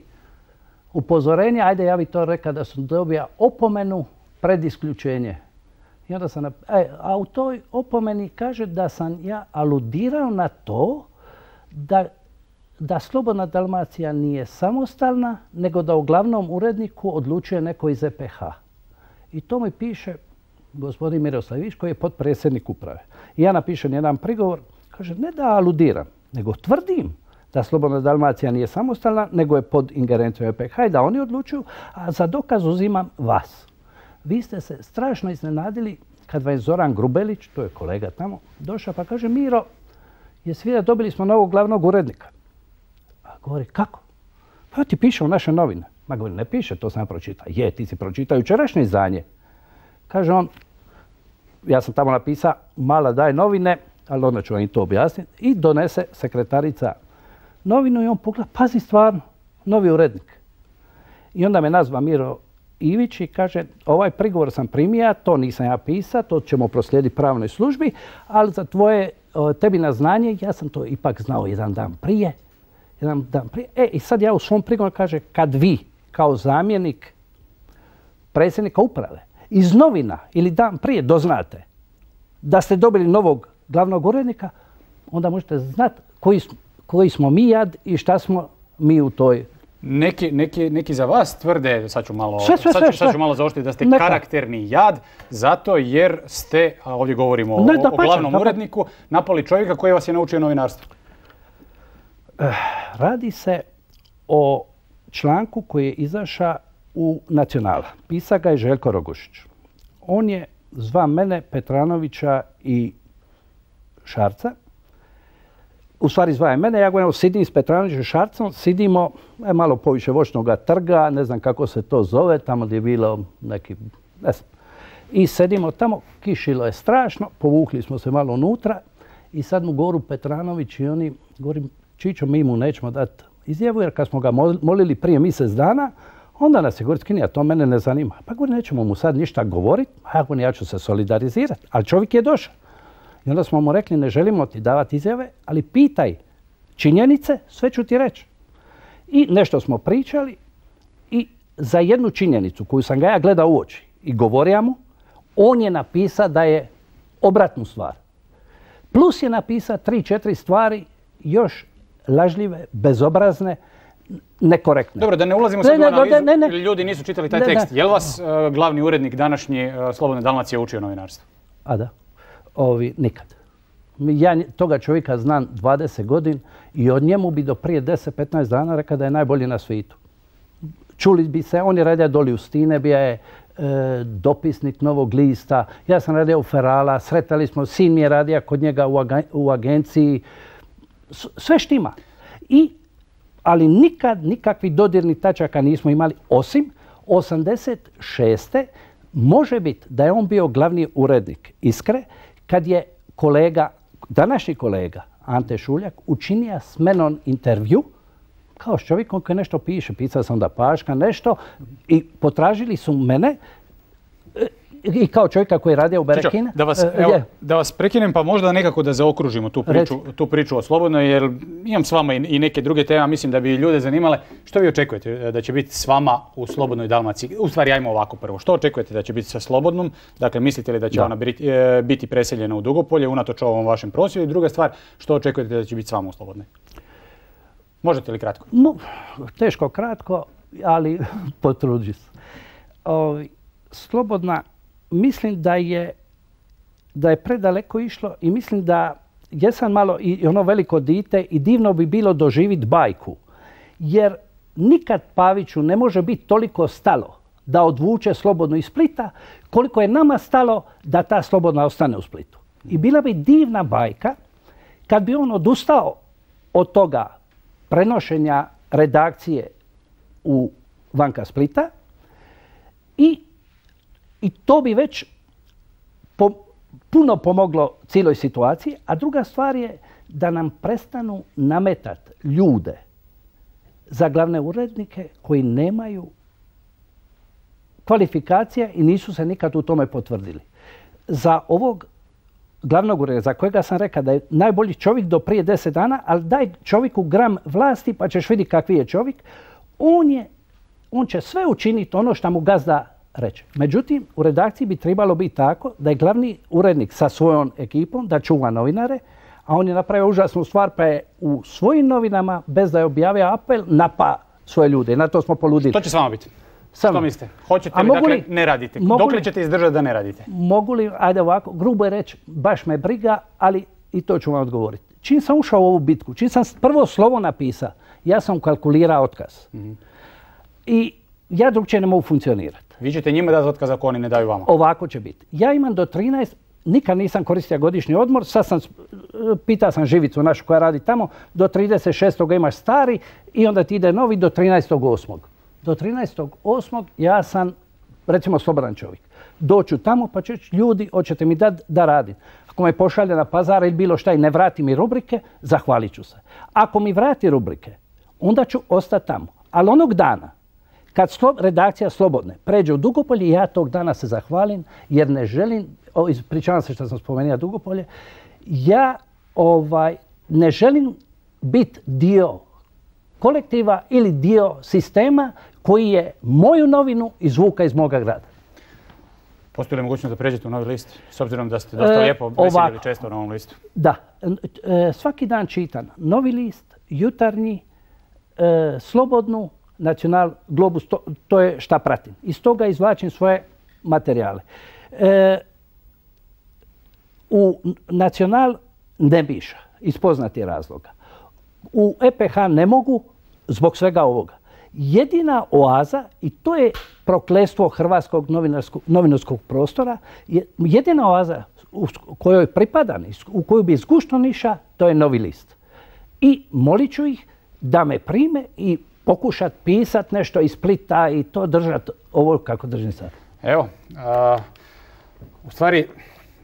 upozorenje, ajde ja bih to rekao da sam dobio opomenu pred isključenje. I onda sam, e, a u toj opomeni kaže da sam ja aludirao na to da, da Slobodna Dalmacija nije samostalna, nego da u glavnom uredniku odlučuje neko iz E P H. I to mi piše gospodin Miroslav Ivić koji je potpredsjednik uprave. I ja napišem jedan prigovor, kaže ne da aludiram, nego tvrdim da Slobodna Dalmacija nije samostalna, nego je pod ingerencijom E P H i da oni odlučuju, a za dokaz uzimam vas. Vi ste se strašno iznenadili kad vam je Zoran Grubelić, to je kolega tamo, došao pa kaže Miro, jesi vidio, dobili smo novog glavnog urednika. A govori, kako? Pa ti piše u naše novine. Ma govori, ne piše, to sam ja pročitao. Je, ti si pročitao jučerašnje izdanje. Kaže on, ja sam tamo napisao, mala daj novine, ali onda ću vam i to objasniti. I donese sekretarica novinu i on pogleda, pazi stvarno, novi urednik. I onda me nazva Miro Ivić i kaže, ovaj prigovor sam primija, to nisam ja pisao, to ćemo proslijediti pravnoj službi, ali za tvoje, tebi na znanje, ja sam to ipak znao jedan dan prije. Jedan dan prije. E, i sad ja u svom prigovoru kaže, kad vi, kao zamjenik predsjednika uprave, iz novina ili dan prije doznate da ste dobili novog glavnog urednika, onda možete znati koji, koji smo mi jad i šta smo mi u toj. Neki, neki, neki za vas tvrde, sad ću malo, sve, sve, sad ću, sve, sad ću malo zaoštriti, da ste Neka. karakterni jad, zato jer ste, a ovdje govorimo Ne, o, da, o pa, glavnom da, pa. uredniku, napali čovjeka koji vas je naučio novinarstvu. Radi se o članku koji je izašao u Nacionala. Pisa ga je Željko Rogošić. On je zva mene, Petranovića i Šarca. U stvari zva je mene, ja govorim, sidim s Petranovićem i Šarcom, sidimo e, malo poviše Voćnog trga, ne znam kako se to zove, tamo gdje je bilo neki, ne znam. I sedimo tamo, kišilo je strašno, povukli smo se malo unutra i sad mu govoru Petranović i oni, govorim, Čičo, mi mu nećemo dati izjavu, jer kad smo ga molili prije mjesec dana, onda nas je govorit, skinija, to mene ne zanima. Pa govori, nećemo mu sad ništa govoriti, a ja, ja ću se solidarizirati, ali čovjek je došao. I onda smo mu rekli, ne želimo ti davati izjave, ali pitaj činjenice, sve ću ti reći. I nešto smo pričali i za jednu činjenicu koju sam ga ja gledao u oči i govorio mu, on je napisao da je obratnu stvar. Plus je napisao tri, četiri stvari još lažljive, bezobrazne, nekorektne. Dobro, da ne ulazimo sad u analizu, ljudi nisu čitali taj ne, tekst. Ne. Je li vas uh, glavni urednik današnji uh, Slobodne Dalmacije učio novinarstvo? A da, ovi nikad. Ja toga čovjeka znam dvadeset godina i od njemu bi do prije deset petnaest dana rekao da je najbolji na svijetu. Čuli bi se, on je radio doli u Stine, bio je e, dopisnik Novog lista, ja sam radio u Ferala, sretali smo, sin mi je radio kod njega u, aga, u agenciji, S, sve štima. I, ali nikad nikakvih dodirnih tačaka nismo imali, osim osamdeset šeste može biti da je on bio glavni urednik Iskre, kad je kolega, današnji kolega Ante Šuljak učinio s menom intervju kao s čovjekom koji nešto piše. Pisao sam da Paška nešto i potražili su mene i kao čovjeka koji je radio u Berekina. Da vas, evo, da vas prekinem pa možda nekako da zaokružimo tu priču, tu priču o Slobodnoj, jer imam s vama i neke druge teme, mislim da bi ljude zanimale. Što vi očekujete da će biti s vama u Slobodnoj Dalmaciji? U stvari, ajmo ovako prvo. Što očekujete da će biti sa Slobodnom? Dakle, mislite li da će da. ona biti preseljena u Dugopolje unatoč ovom vašem prosvjedu? I druga stvar, što očekujete da će biti s vama u Slobodnoj? Možete li kratko? No, teško kratko, ali potrudži se. Slobodna, mislim da je, da je predaleko išlo i mislim da jesam malo i ono veliko dite i divno bi bilo doživjeti bajku. Jer nikad Paviću ne može biti toliko stalo da odvuče Slobodnu iz Splita koliko je nama stalo da ta Slobodna ostane u Splitu. I bila bi divna bajka kad bi on odustao od toga prenošenja redakcije u vanka Splita i, i to bi već po, puno pomoglo cijeloj situaciji. A druga stvar je da nam prestanu nametati ljude za glavne urednike koji nemaju kvalifikacije i nisu se nikad u tome potvrdili. Za ovog glavnog urednika, za kojega sam rekao da je najbolji čovjek do prije deset dana, ali daj čovjeku gram vlasti pa ćeš vidjeti kakvi je čovjek, on, je, on će sve učiniti ono što mu gazda reče. Međutim, u redakciji bi trebalo biti tako da je glavni urednik sa svojom ekipom, da čuva novinare, a on je napravio užasnu stvar pa je u svojim novinama, bez da je objavio apel, napa svoje ljude. I na to smo poludili. Što će s vama biti? Samo. Što mislite? Hoćete li, dakle, ne radite? Dok li ćete izdržati da ne radite? Mogu li, ajde ovako, grubo je reći, baš me briga, ali i to ću vam odgovoriti. Čim sam ušao u ovu bitku, čim sam prvo slovo napisao, ja sam kalkulirao otkaz. Mm-hmm. I ja drugčije ne mogu funkcionirati. Vi ćete njima dati otkaz ako oni ne daju vama? Ovako će biti. Ja imam do trinaest, nikad nisam koristio godišnji odmor, sad sam, pitao sam Živicu našu koja radi tamo, do trideset šestog imaš stari i onda ti ide novi do trinaestog osmog Do trinaestog osmog ja sam, recimo, slobodan čovjek. Doću tamo pa će ljudi, hoćete mi dati da radim. Ako me pošalje na Pazar ili bilo šta i ne vrati mi rubrike, zahvalit ću se. Ako mi vrati rubrike, onda ću ostati tamo. Ali onog dana, kad slo, redakcija Slobodne pređe u Dugopolje, ja tog dana se zahvalim jer ne želim, o, ispričavam se što sam spomenuo Dugopolje, ja ovaj, ne želim biti dio kolektiva ili dio sistema koji je moju novinu izvuka iz moga grada. Postoji li mogućnost da pređete u Novi list, s obzirom da ste dosta e, lijepo veseljili često na ovom listu? Da. E, svaki dan čitam Novi list, Jutarnji, e, Slobodnu, Nacional, Globus, to, to je šta pratim. Iz toga izvlačim svoje materijale. E, u Nacional ne piša, iz poznatih razloga. U E P H ne mogu zbog svega ovoga. Jedina oaza, i to je prokletstvo hrvatskog novinarskog prostora, je jedina oaza u kojoj pripadam, u koju bi zgušno niša, to je Novi list. I molit ću ih da me prime i pokušat pisat nešto iz Splita i to držat ovo kako držim sad. Evo, a, u stvari,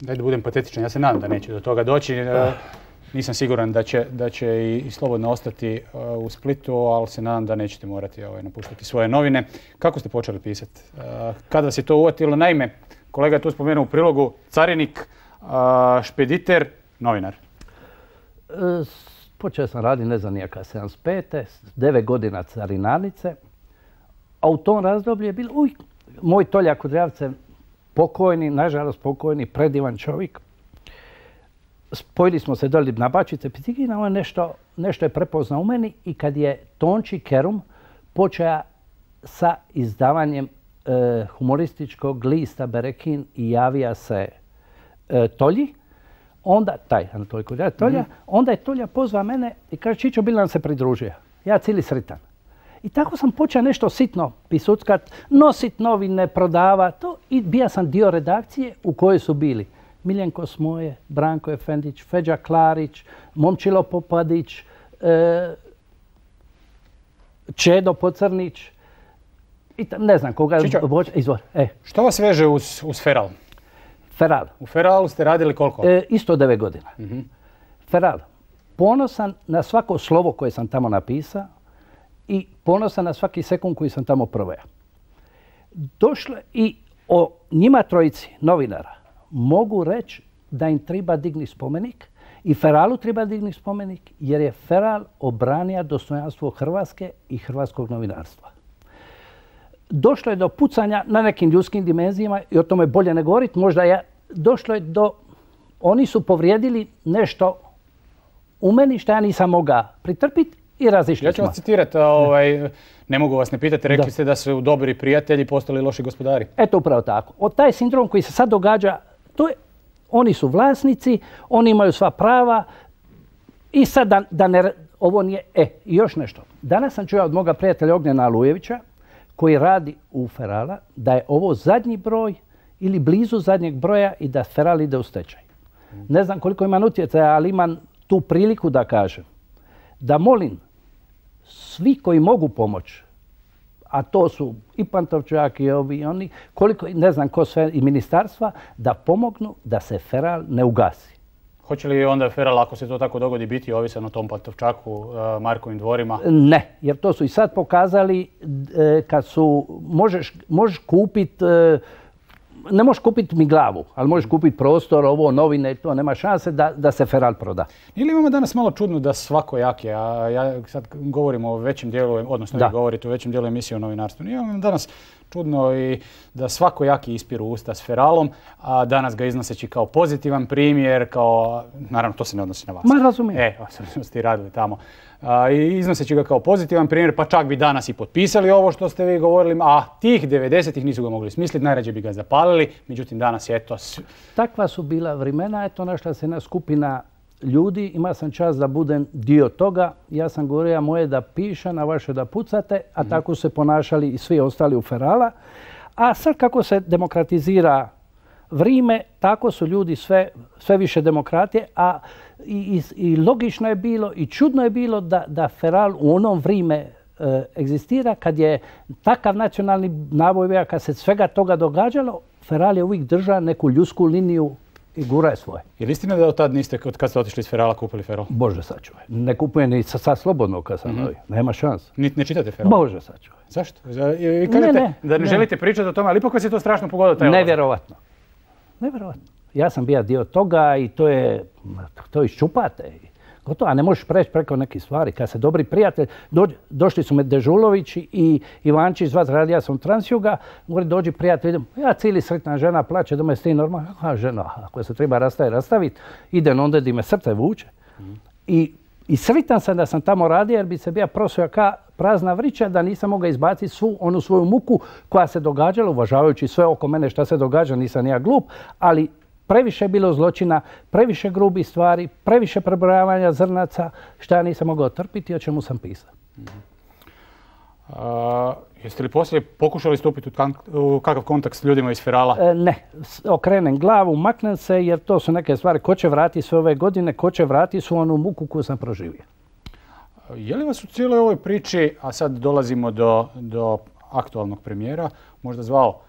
daj da budem patetičan, ja se nadam da neće do toga doći. A, nisam siguran da će, da će i, i Slobodno ostati a, u Splitu, ali se nadam da nećete morati ovaj, napuštati svoje novine. Kako ste počeli pisati? Kada vas je to uvatilo? Naime, kolega je tu spomenuo u prilogu, carinik, a, špediter, novinar. E, Počeo sam raditi, ne znam nijaka, sedamdeset pete devet godina carinarnice, a u tom razdoblju je bilo, uj, moj Tolja Kudrjavce, pokojni, nažalost pokojni, predivan čovjek. Spojili smo se doli na Bačice, Pitigina, on nešto, nešto je prepoznao u meni i kad je Tonči Kerum počeo sa izdavanjem e, humorističkog lista Berekin i javija se e, Tolji, onda, taj Anatolij Kudrjavac, Tolja, mm-hmm. onda je Tolja pozvao mene i kaže, Čičo, bil nam se pridružio. Ja cijeli sritan. I tako sam počeo nešto sitno pisuckat, nosit novine, prodavat to i bija sam dio redakcije u kojoj su bili Miljenko Smoje, Branko Efendić, Feđa Klarić, Momčilo Popadić, e, Čedo Pocrnić i tam, ne znam koga. Čičo, izvor. E. Što vas veže uz, uz Feral? Feral. U Feralu ste radili koliko? E, isto devet godina. Mm-hmm. Feral. Ponosan na svako slovo koje sam tamo napisao i ponosan na svaki sekund koji sam tamo proveo. Došlo i o njima trojici novinara mogu reći da im treba digni spomenik i Feralu treba digni spomenik jer je Feral obranio dostojanstvo Hrvatske i hrvatskog novinarstva. Došlo je do pucanja na nekim ljudskim dimenzijama i o tome bolje ne govoriti. Možda je došlo je do... Oni su povrijedili nešto u meni što ja nisam mogao pritrpiti i razišli smo. Ja ću vas citirati, ovaj, ne mogu vas ne pitati, rekli da. ste da su dobri prijatelji postali loši gospodari. Eto upravo tako. Od taj sindrom koji se sad događa, to je, oni su vlasnici, oni imaju sva prava i sad da, da ne... Ovo nije... E, i još nešto. Danas sam čuo od moga prijatelja Ognjena Alujevića, koji radi u Ferala, da je ovo zadnji broj ili blizu zadnjeg broja i da Feral ide u stečaj. Ne znam koliko imam utjecaja, ali imam tu priliku da kažem. Da molim svi koji mogu pomoći, a to su i Pantovčak i ovi i oni, koliko, ne znam ko sve, i ministarstva, da pomognu da se Feral ne ugasi. Hoće li onda Feral, ako se to tako dogodi, biti ovisan o tom Pantovčaku, Markovim dvorima? Ne, jer to su i sad pokazali kad su, možeš, možeš kupiti, ne možeš kupiti mi glavu, ali možeš kupiti prostor, ovo, novine, to nema šanse da, da se Feral proda. Ili imamo danas malo čudno da svakojaki, a ja sad govorim o većem dijelu, odnosno vi govorite o većem dijelu emisije o novinarstvu. Imamo danas čudno i da svakojaki ispiru usta s Feralom, a danas ga iznoseći kao pozitivan primjer, kao, naravno to se ne odnosi na vas. Ma razumijem. E, što ste i radili tamo. A, i iznoseći ga kao pozitivan primjer, pa čak bi danas i potpisali ovo što ste vi govorili, a tih devedesetih nisu ga mogli smisliti, najrađe bi ga zapalili, međutim danas je to... Takva su bila vremena, eto našla se jedna skupina ljudi, ima sam čast da budem dio toga, ja sam govorio moje da pišem, a vaše da pucate, a mm. tako se ponašali i svi ostali u Ferala. A sad kako se demokratizira vrime, tako su ljudi sve, sve više demokratije, a i, i, i logično je bilo i čudno je bilo da, da Feral u onom vrime e, egzistira, kad je takav nacionalni naboj, kad se svega toga događalo, Feral je uvijek držao neku ljudsku liniju i guraj svoje. Je li istina da od tad niste, od kad ste otišli iz Ferala, kupili Feral? Bože sačuvaj. Ne kupujem ni sa, sa slobodnog kad sam novi. Nema šansa. Ni, ne čitate Feral? Bože sačuvaj. Zašto? I kažete ne, da ne, ne. želite pričati o tome, ali ipak vas je to strašno pogodilo taj odlazak. Nevjerovatno. Nevjerovatno. Ja sam bio dio toga i to je, to iščupate. Gotovo, a ne možeš preći preko nekih stvari. Kad se dobri prijatelj, do, došli su me Dežulović i Ivančić, zvat radi, ja sam Transjuga, govori dođi prijatelj, idem, ja cijeli sretna žena plaće, da me s tim normalno, a žena, ako se treba rastaviti, rastaviti, idem onda di me srce vuče. Mm. I, I sretan sam da sam tamo radio jer bi se bio prosio ka prazna vrića, da nisam mogao izbaciti svu onu svoju muku koja se događala, uvažavajući sve oko mene šta se događa, nisam ja glup, ali previše je bilo zločina, previše grubih stvari, previše prebrojavanja zrnaca, šta ja nisam mogao trpiti i o čemu sam pisao. Mm-hmm. A, jeste li poslije pokušali stupiti u, kan, u kakav kontakt s ljudima iz Ferala? E, ne, okrenem glavu, maknem se jer to su neke stvari. Ko će vratiti sve ove godine, ko će vratiti su onu muku koju sam proživio. Je li vas u cijeloj ovoj priči, a sad dolazimo do, do aktualnog premijera, možda zvao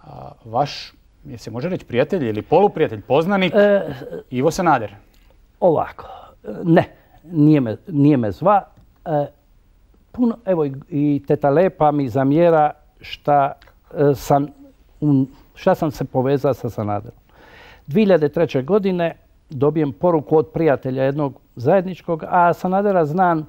a, vaš, je se može reći prijatelj ili poluprijatelj, poznanik, e, Ivo Sanader? Ovako, ne, nije me, nije me zva. E, puno, evo i teta Lepa mi zamjera šta, e, sam, um, šta sam se povezao sa Sanaderom. dvije hiljade treće. godine dobijem poruku od prijatelja jednog zajedničkog, a Sanadera znam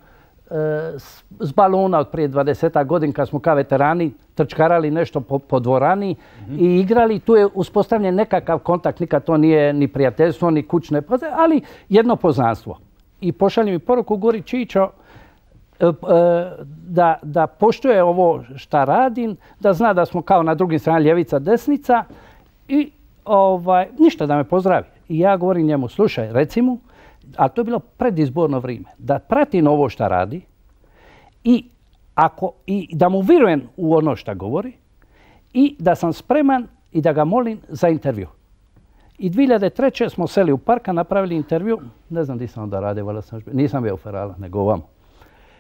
s, s balona od prije dvadesetak godina kad smo kao veterani trčkarali nešto po, po dvorani mm-hmm. i igrali. Tu je uspostavljen nekakav kontakt, nikad to nije ni prijateljstvo, ni kućne, ali jedno poznanstvo. I pošalje mi poruku, Gori Čičo, da, da poštuje ovo šta radim, da zna da smo kao na drugim strani ljevica, desnica i ovaj, ništa da me pozdravi. I ja govorim njemu, slušaj, reci mu, a to je bilo predizborno vrijeme, da pratim ovo šta radi i, ako, i da mu vjerujem u ono šta govori i da sam spreman i da ga molim za intervju. I dvije hiljade treće. smo seli u parka, napravili intervju, ne znam di sam onda radio, nisam bio u Ferala, nego ovamo.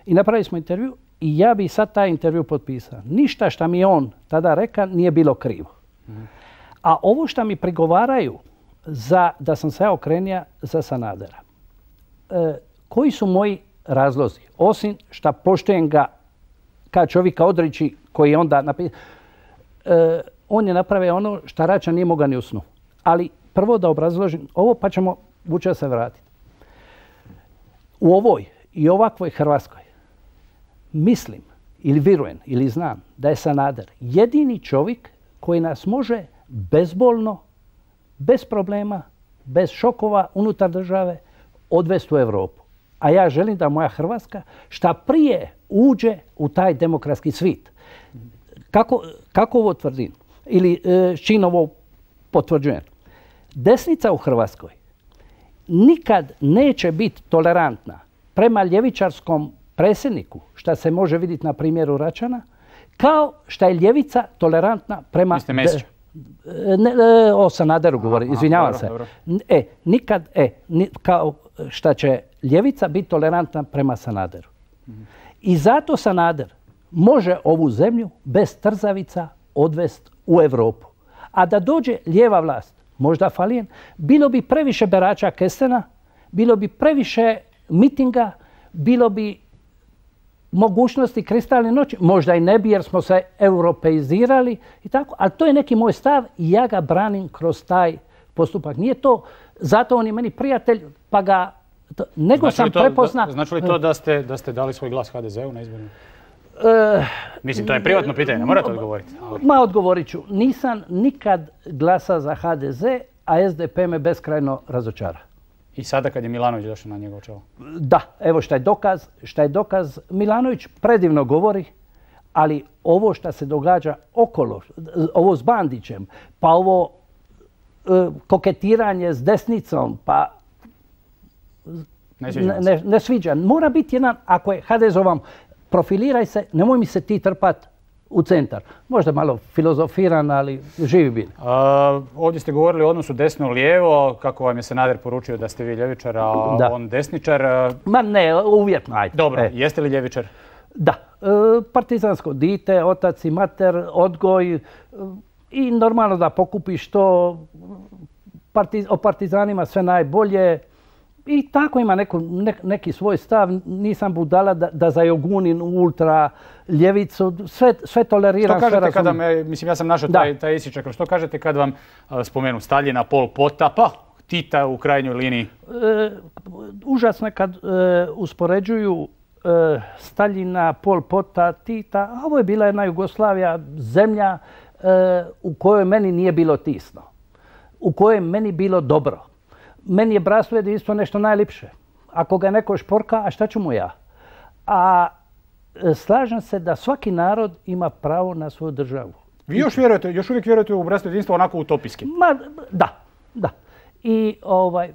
I napravili smo intervju i ja bi sad taj intervju potpisao. Ništa šta mi je on tada reka nije bilo krivo. Mm. A ovo šta mi prigovaraju za, da sam se ja okrenio za Sanadera. E, koji su moji razlozi? Osim šta poštujem ga kao čovjeka odriči koji je onda napisao. E, on je napravio ono šta Račan nije mogao ni u snu. Ali prvo da obrazložim ovo pa ćemo vuče se vratiti. U ovoj i ovakvoj Hrvatskoj mislim ili vjerujem ili znam da je Sanader jedini čovjek koji nas može bezbolno, bez problema, bez šokova unutar države odvesti u Europu. A ja želim da moja Hrvatska šta prije uđe u taj demokratski svijet. Kako, kako ovo tvrdim? Ili s čim ovo potvrđujem? Desnica u Hrvatskoj nikad neće biti tolerantna prema ljevičarskom predsjedniku, šta se može vidjeti na primjeru Račana, kao šta je ljevica tolerantna prema... Mister Mesić? Ne, ne, o Sanaderu govori, izvinjavam dobro, se. Dobro. E, nikad, e, ni, kao šta će ljevica biti tolerantna prema Sanaderu. Mm-hmm. I zato Sanader može ovu zemlju bez trzavica odvesti u Europu. A da dođe lijeva vlast, možda Falijen, bilo bi previše berača kestena, bilo bi previše mitinga, bilo bi mogućnosti kristalne noći, možda i ne bi jer smo se europeizirali i tako, ali to je neki moj stav i ja ga branim kroz taj postupak. Nije to, zato on je meni prijatelj, pa ga, to, nego znači sam to, prepozna... Da, znači li to da ste, da ste dali svoj glas ha de zeu na izborima? Uh, Mislim, to je privatno pitanje, ne morate odgovoriti. Ali... Ma odgovorit ću. Nisam nikad glasa za ha de ze, a es de pe me beskrajno razočara. I sada kad je Milanović došao na njegovo čelo? Da, evo šta je dokaz. Šta je dokaz, Milanović predivno govori, ali ovo šta se događa okolo, ovo s Bandićem, pa ovo e, koketiranje s desnicom, pa ne sviđa. Ne, ne sviđa. Mora biti jedan, ako je ha de ze ovam, profiliraj se, nemoj mi se ti trpat u centar. Možda malo filozofiran, ali živi bili. Uh, ovdje ste govorili o odnosu desno-lijevo, kako vam je Sanader poručio da ste vi ljevičar, a da. on desničar. Ma ne, uvjetno, ajde. Dobro, e. jeste li ljevičar? Da. E, partizansko dite, otac i mater, odgoj e, i normalno da pokupiš to o partizanima sve najbolje. I tako ima neku, ne, neki svoj stav. Nisam budala da, da zajogunim ultra ljevicu. Sve, sve toleriram. Što kažete sve kada me, mislim ja sam našao taj, taj isičak, što kažete kad vam uh, spomenu Staljina, Pol Pota, pa Tita u krajnjoj liniji? E, užasno je kad e, uspoređuju e, Staljina, Pol Pota, Tita. A ovo je bila jedna Jugoslavija, zemlja e, u kojoj meni nije bilo tisno. U kojoj meni bilo dobro. Meni je bratstvo jedinstvo nešto najljepše. Ako ga neko šporka, a šta ću mu ja? A e, slažem se da svaki narod ima pravo na svoju državu. Vi još vjerujete, još uvijek vjerujete u bratstvo jedinstvo onako utopijski? Ma, da, da. I ovaj, e,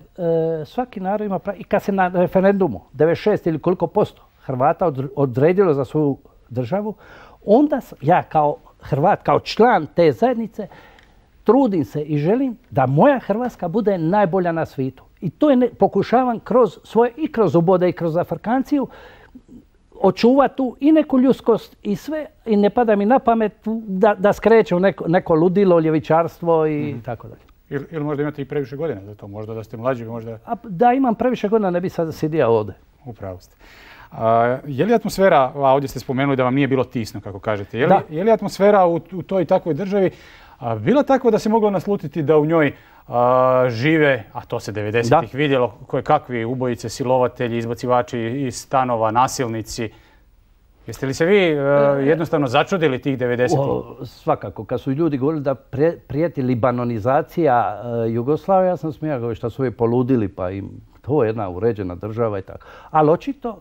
svaki narod ima pravo. I kad se na referendumu devedeset šest ili koliko posto Hrvata odredilo za svoju državu, onda ja kao Hrvat, kao član te zajednice, trudim se i želim da moja Hrvatska bude najbolja na svijetu. I to je ne, pokušavam kroz svoje, i kroz ubode i kroz Afrikanciju, očuvati tu i neku ljudskost i sve. I ne pada mi na pamet da, da skrećem neko, neko ludilo, ljevičarstvo i mm. tako dalje. Ili, ili možda imate i previše godina za to, možda da ste mlađi, možda... A, da imam previše godina, ne bi sad sidio ovdje. Upravo ste. A, je li atmosfera, a ovdje ste spomenuli da vam nije bilo tisno, kako kažete, je li, je li atmosfera u, u toj takvoj državi a, bila takva da se moglo naslutiti da u njoj a, žive, a to se devedesetih vidjelo, koje kakvi ubojice, silovatelji, izbacivači iz stanova, nasilnici? Jeste li se vi uh, jednostavno začudili tih devedesetih? Svakako. Kad su ljudi govorili da pre, prijeti libanonizacija uh, Jugoslavije, ja sam smijao što su ovi poludili, pa im to je jedna uređena država i tako. Ali očito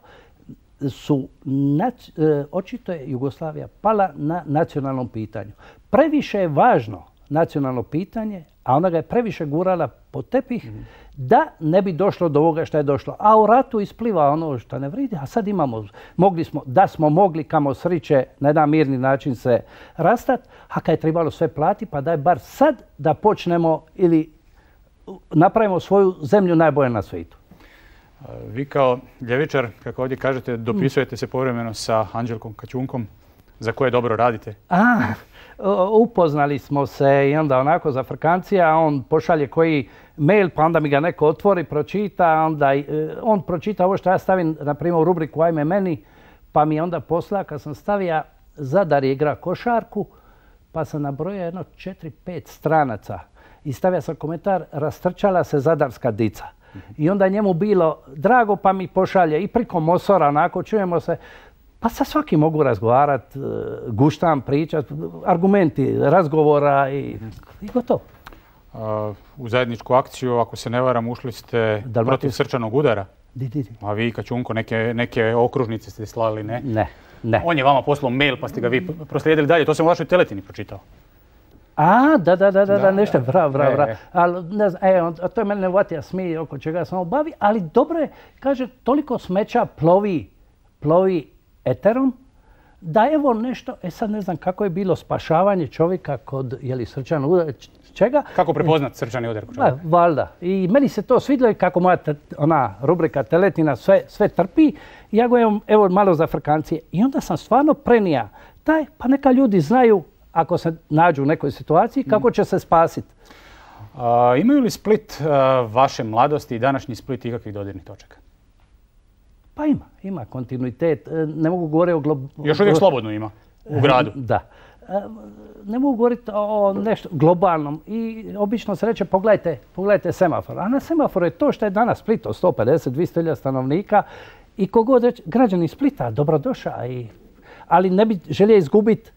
su, nac, uh, očito je Jugoslavija pala na nacionalnom pitanju. Previše je važno nacionalno pitanje, a ona ga je previše gurala pod tepih, mm. da ne bi došlo do ovoga što je došlo. A u ratu ispliva ono što ne vridi, a sad imamo, mogli smo, da smo mogli kamo sriće na jedan mirni način se rastat, a kad je trebalo sve plati, pa daj bar sad da počnemo ili napravimo svoju zemlju najbolje na svijetu. Vi kao ljevičar, kako ovdje kažete, dopisujete se povremeno sa Anđelkom Kaćunkom, za koje dobro radite. A, upoznali smo se i onda onako za Afrikancija, on pošalje koji mail, pa onda mi ga neko otvori, pročita, onda on pročita ovo što ja stavim, na primjer, u rubriku Ajme meni, pa mi onda posla, kad sam stavio Zadar igra košarku, pa sam nabrojao jedno četiri, pet stranaca i stavio sam komentar, rastrčala se zadarska dica. I onda njemu bilo drago, pa mi pošalje i priko Mosora, onako čujemo se. Pa sa svakim mogu razgovarati, guštam, pričat, argumenti razgovora i, i gotovo. Uh, u zajedničku akciju, ako se ne varam, ušli ste Dalmatis. Protiv srčanog udara. Di, di, di. A vi, Kaćunko, neke, neke okružnice ste slali, ne? Ne, ne. On je vama poslao mail pa ste ga vi proslijedili dalje. To sam u vašoj teletini pročitao. A, da, da, da, da, da nešto, bravo, bravo, bravo. Ali, ne znam, e, on, to je mene nevatija smije oko čega sam obavi, ali dobro je, kaže, toliko smeća plovi, plovi eterom, da evo nešto, e sad ne znam kako je bilo spašavanje čovjeka kod, jeli, srčanog udara, čega? Kako prepoznat srčani udar kod čovjeka? Valjda. I meni se to svidjelo kako moja te, ona rubrika Teletina sve, sve trpi. Ja govorim, evo malo za Afrikancije. I onda sam stvarno prenija taj, pa neka ljudi znaju ako se nađu u nekoj situaciji kako će se spasiti. Uh, imaju li Split, uh, vaše mladosti i današnji Split ikakvih dodirnih točaka? Pa ima, ima kontinuitet. Ne mogu govoriti o... Glo... Još uvijek slobodno ima u gradu. Da. Ne mogu govoriti o nešto globalnom i obično se reče pogledajte, pogledajte semafor. A na semaforu je to što je danas Split od sto pedeset do dvjesto hiljada stanovnika i kogod reče, građani Splita, dobrodošao. I... Ali ne bi želio izgubiti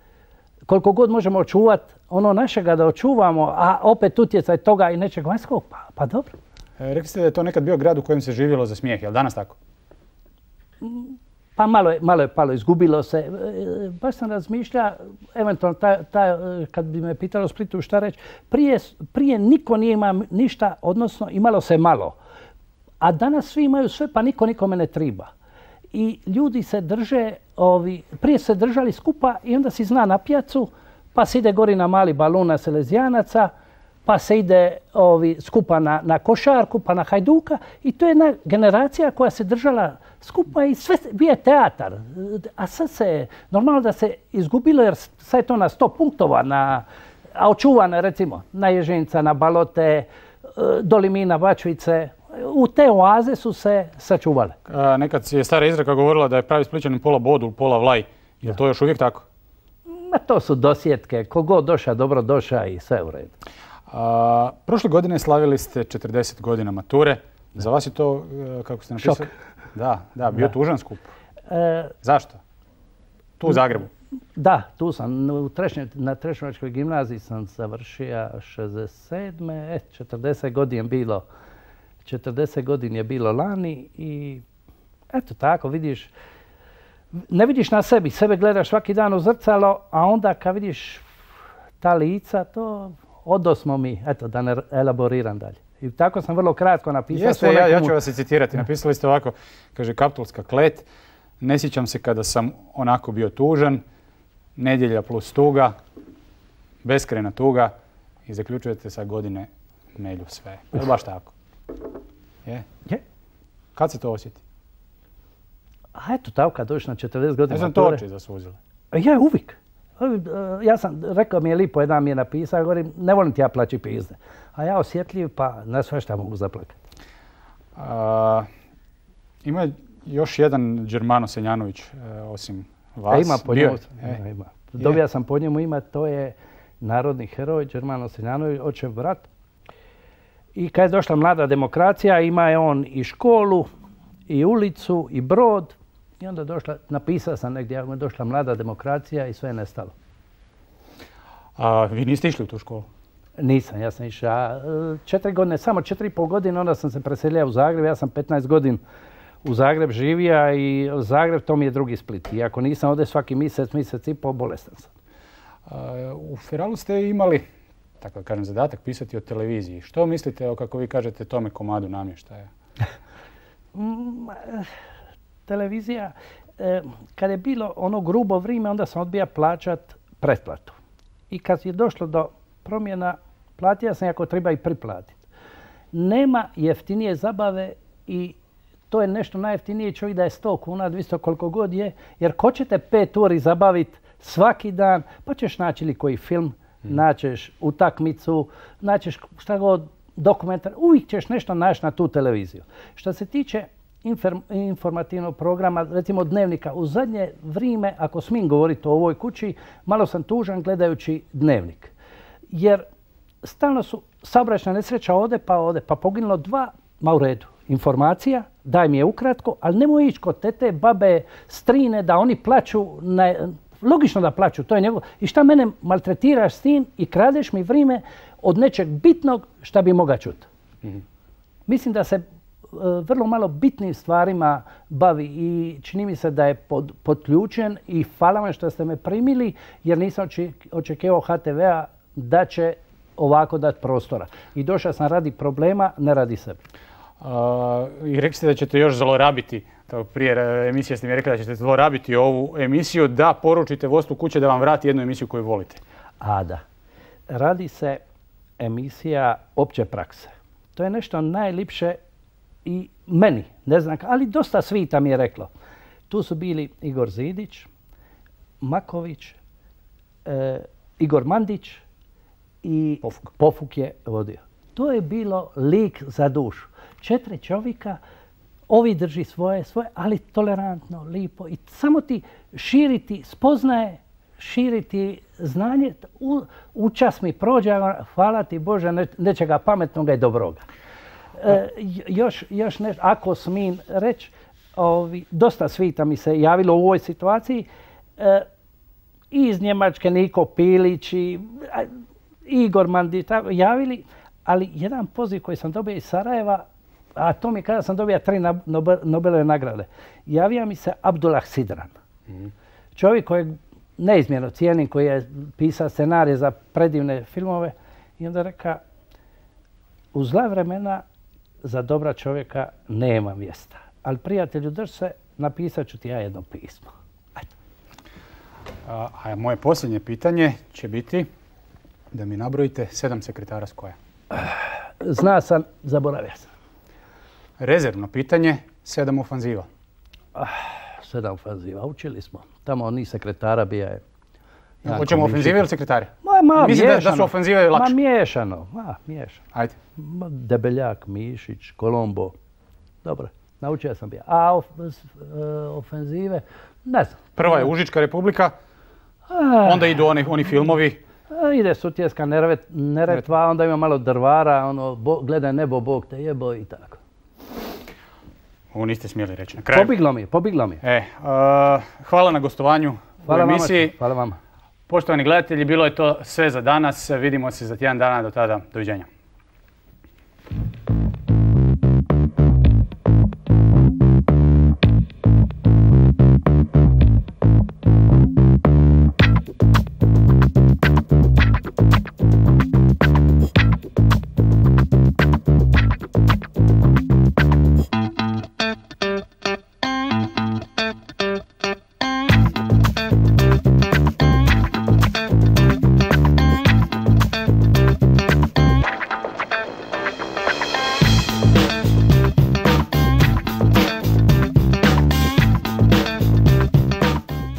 koliko god možemo očuvati ono našega da očuvamo, a opet utjecaj toga i nečeg vanjskog, pa, pa dobro. E, rekli ste da je to nekad bio grad u kojem se živjelo za smijeh, je li danas tako? Pa malo je, malo je palo, izgubilo se. Baš sam razmišljao, eventualno, ta, ta, kad bi me pitalo Splitu šta reći, prije, prije niko nije imao ništa, odnosno imalo se malo. A danas svi imaju sve, pa niko nikome ne triba. I ljudi se drže, ovi, prije se držali skupa i onda si zna na pijacu, pa se ide gori na mali balon na Selezijanaca, pa se ide ovi, skupa na, na košarku, pa na Hajduka. I to je jedna generacija koja se držala skupa i sve bio teatar. A sad se, normalno da se izgubilo jer sad je to na sto punktova, na, a očuvane recimo na Ježinca, na Balote, do Limina, Bačvice. U te oaze su se sačuvale. Nekad je stara izreka govorila da je pravi Splićanin pola bodul, pola vlaj. Je li to još uvijek tako? Ma to su dosjetke. Kogod doša, dobro doša i sve u redu. A, prošle godine slavili ste četrdeset godina mature. Za vas je to, kako ste napisali? Šok. Da, da, bio Da. tužan skup. E, Zašto? Tu u Zagrebu? Da, tu sam. U Trešnje, na Trešnjevačkoj gimnaziji sam završio šezdeset sedme. E, četrdeset godina je bilo. četrdeset godina je bilo lani i eto tako, vidiš, ne vidiš na sebi, sebe gledaš svaki dan u zrcalo, a onda kad vidiš ta lica, to odosmo mi, eto da ne elaboriram dalje. I tako sam vrlo kratko napisao. Jeste, ja, ja ću vas i citirati. Napisali ste ovako, kaže Kaptolska klet, ne sjećam se kada sam onako bio tužan, nedjelja plus tuga, beskrajna tuga i zaključujete sa godine melju sve. Je li baš tako? Je? Je. Kad se to osjeti? A eto tako, kad dođeš na četrdeset godina. Ja sam to oči zasuzile. Ja, uvijek. Ja sam, rekao mi je lipo, jedan mi je napisao, govorim, ne volim ti ja plaći pizde. A ja osjetljiv, pa na sve šta mogu zaplakati. A, ima još jedan Đermano Senjanović, e, osim vas. E, ima po Bio njemu, je? e, ima. Dobija sam po njemu ime, to je narodni heroj, Đermano Senjanović, očev brat. I kad je došla mlada demokracija, ima je on i školu, i ulicu, i brod. I onda došla, napisao sam negdje, ako je došla mlada demokracija i sve je nestalo. A vi niste išli u tu školu? Nisam, ja sam išao četiri godine, samo četiri i pol godine, onda sam se preselio u Zagreb. Ja sam petnaest godina u Zagreb živio i Zagreb to mi je drugi Split. Iako nisam ovdje svaki mjesec, mjesec i pol, bolestan sam. A, u Feralu ste imali, tako da kažem, zadatak pisati o televiziji. Što mislite o, kako vi kažete, tome komadu namještaja? Televizija, eh, kad je bilo ono grubo vrijeme, onda sam odbija plaćat pretplatu. I kad je došlo do promjena, platio sam ako treba i priplatiti. Nema jeftinije zabave i to je nešto najjeftinije, čovjek da je sto kuna, dvjesto koliko god je, jer ko će te pet uri zabaviti svaki dan, pa ćeš naći ili koji film, hmm. naćeš utakmicu, naćeš šta god, dokumentar, uvijek ćeš nešto naći na tu televiziju. Što se tiče informativnog programa, recimo Dnevnika, u zadnje vrijeme, ako smijem govoriti o ovoj kući, malo sam tužan gledajući Dnevnik. Jer stalno su saobraćajna nesreća ode pa ode, pa poginulo dva, ma u redu. Informacija, daj mi je ukratko, ali nemoj ići kod tete, babe, strine, da oni plaću, ne, logično da plaću, to je njegov. I šta mene maltretiraš s tim i kradeš mi vrijeme od nečeg bitnog šta bi mogao čuti. Mm-hmm. Mislim da se vrlo malo bitnim stvarima bavi i čini mi se da je pod, podključen i hvala vam što ste me primili jer nisam očekivao H T V-a da će ovako dati prostora. I došao sam radi problema, ne radi sebe. Uh, I rekli ste da ćete još zlorabiti, prije emisije ste mi rekli da ćete zlorabiti ovu emisiju, da poručite vodstvu kuće da vam vrati jednu emisiju koju volite. A da. Radi se emisija opće prakse. To je nešto najlipše i meni, ne znam, ali dosta svita mi je reklo. Tu su bili Igor Zidić, Maković, e, Igor Mandić i Pofuk. Pofuk je vodio. To je bilo lik za dušu. Četiri čovjeka, ovi drži svoje, svoje, ali tolerantno, lipo. I samo ti širiti spoznaje, širiti znanje. U, u čas mi prođe, hvala ti Bože, ne, nečega pametnoga i dobroga. E, još, još nešto, ako smijem reći, ovi, dosta svita mi se javilo u ovoj situaciji. E, iz Njemačke Niko Pilić i Igor Mandić javili, ali jedan poziv koji sam dobio iz Sarajeva, a to mi kada sam dobio tri Nobelove nagrade, javio mi se Abdullah Sidran. Mm-hmm. Čovjek kojeg neizmjerno cijenim, koji je pisao scenarije za predivne filmove i onda reka, u zla vremena za dobra čovjeka nema mjesta. Ali prijatelju, drž se, napisat ću ti ja jedno pismo. Ajde. A, a moje posljednje pitanje će biti da mi nabrojite sedam sekretara skoja. Zna sam, zaboravio sam. Rezervno pitanje, sedam ofanziva. Ah, sedam ofanziva, učili smo. Tamo ni sekretara bija je. Ja, hoćemo ofenzive ili sekretare? Ma, ma, Mislim da, da miješano. su ofenzive lakše. Ma miješano, ma, miješano. Ajde. Ma, Debeljak, Mišić, Kolombo. Dobro, naučio sam bi. A of, e, ofenzive, ne znam. Prva je Užička republika, A, onda idu oni, oni filmovi. a, ide Sutjeska Neretva, Neretva, onda ima malo Drvara, ono, bo, gledaj nebo, Bog te jebo i tako. Ovo niste smjeli reći na kraju. Pobiglo mi je, pobiglo mi je. E, uh, hvala na gostovanju Hvala u emisiji. vama, hvala vama. Poštovani gledatelji, bilo je to sve za danas. Vidimo se za tjedan dana. Do tada, doviđenja.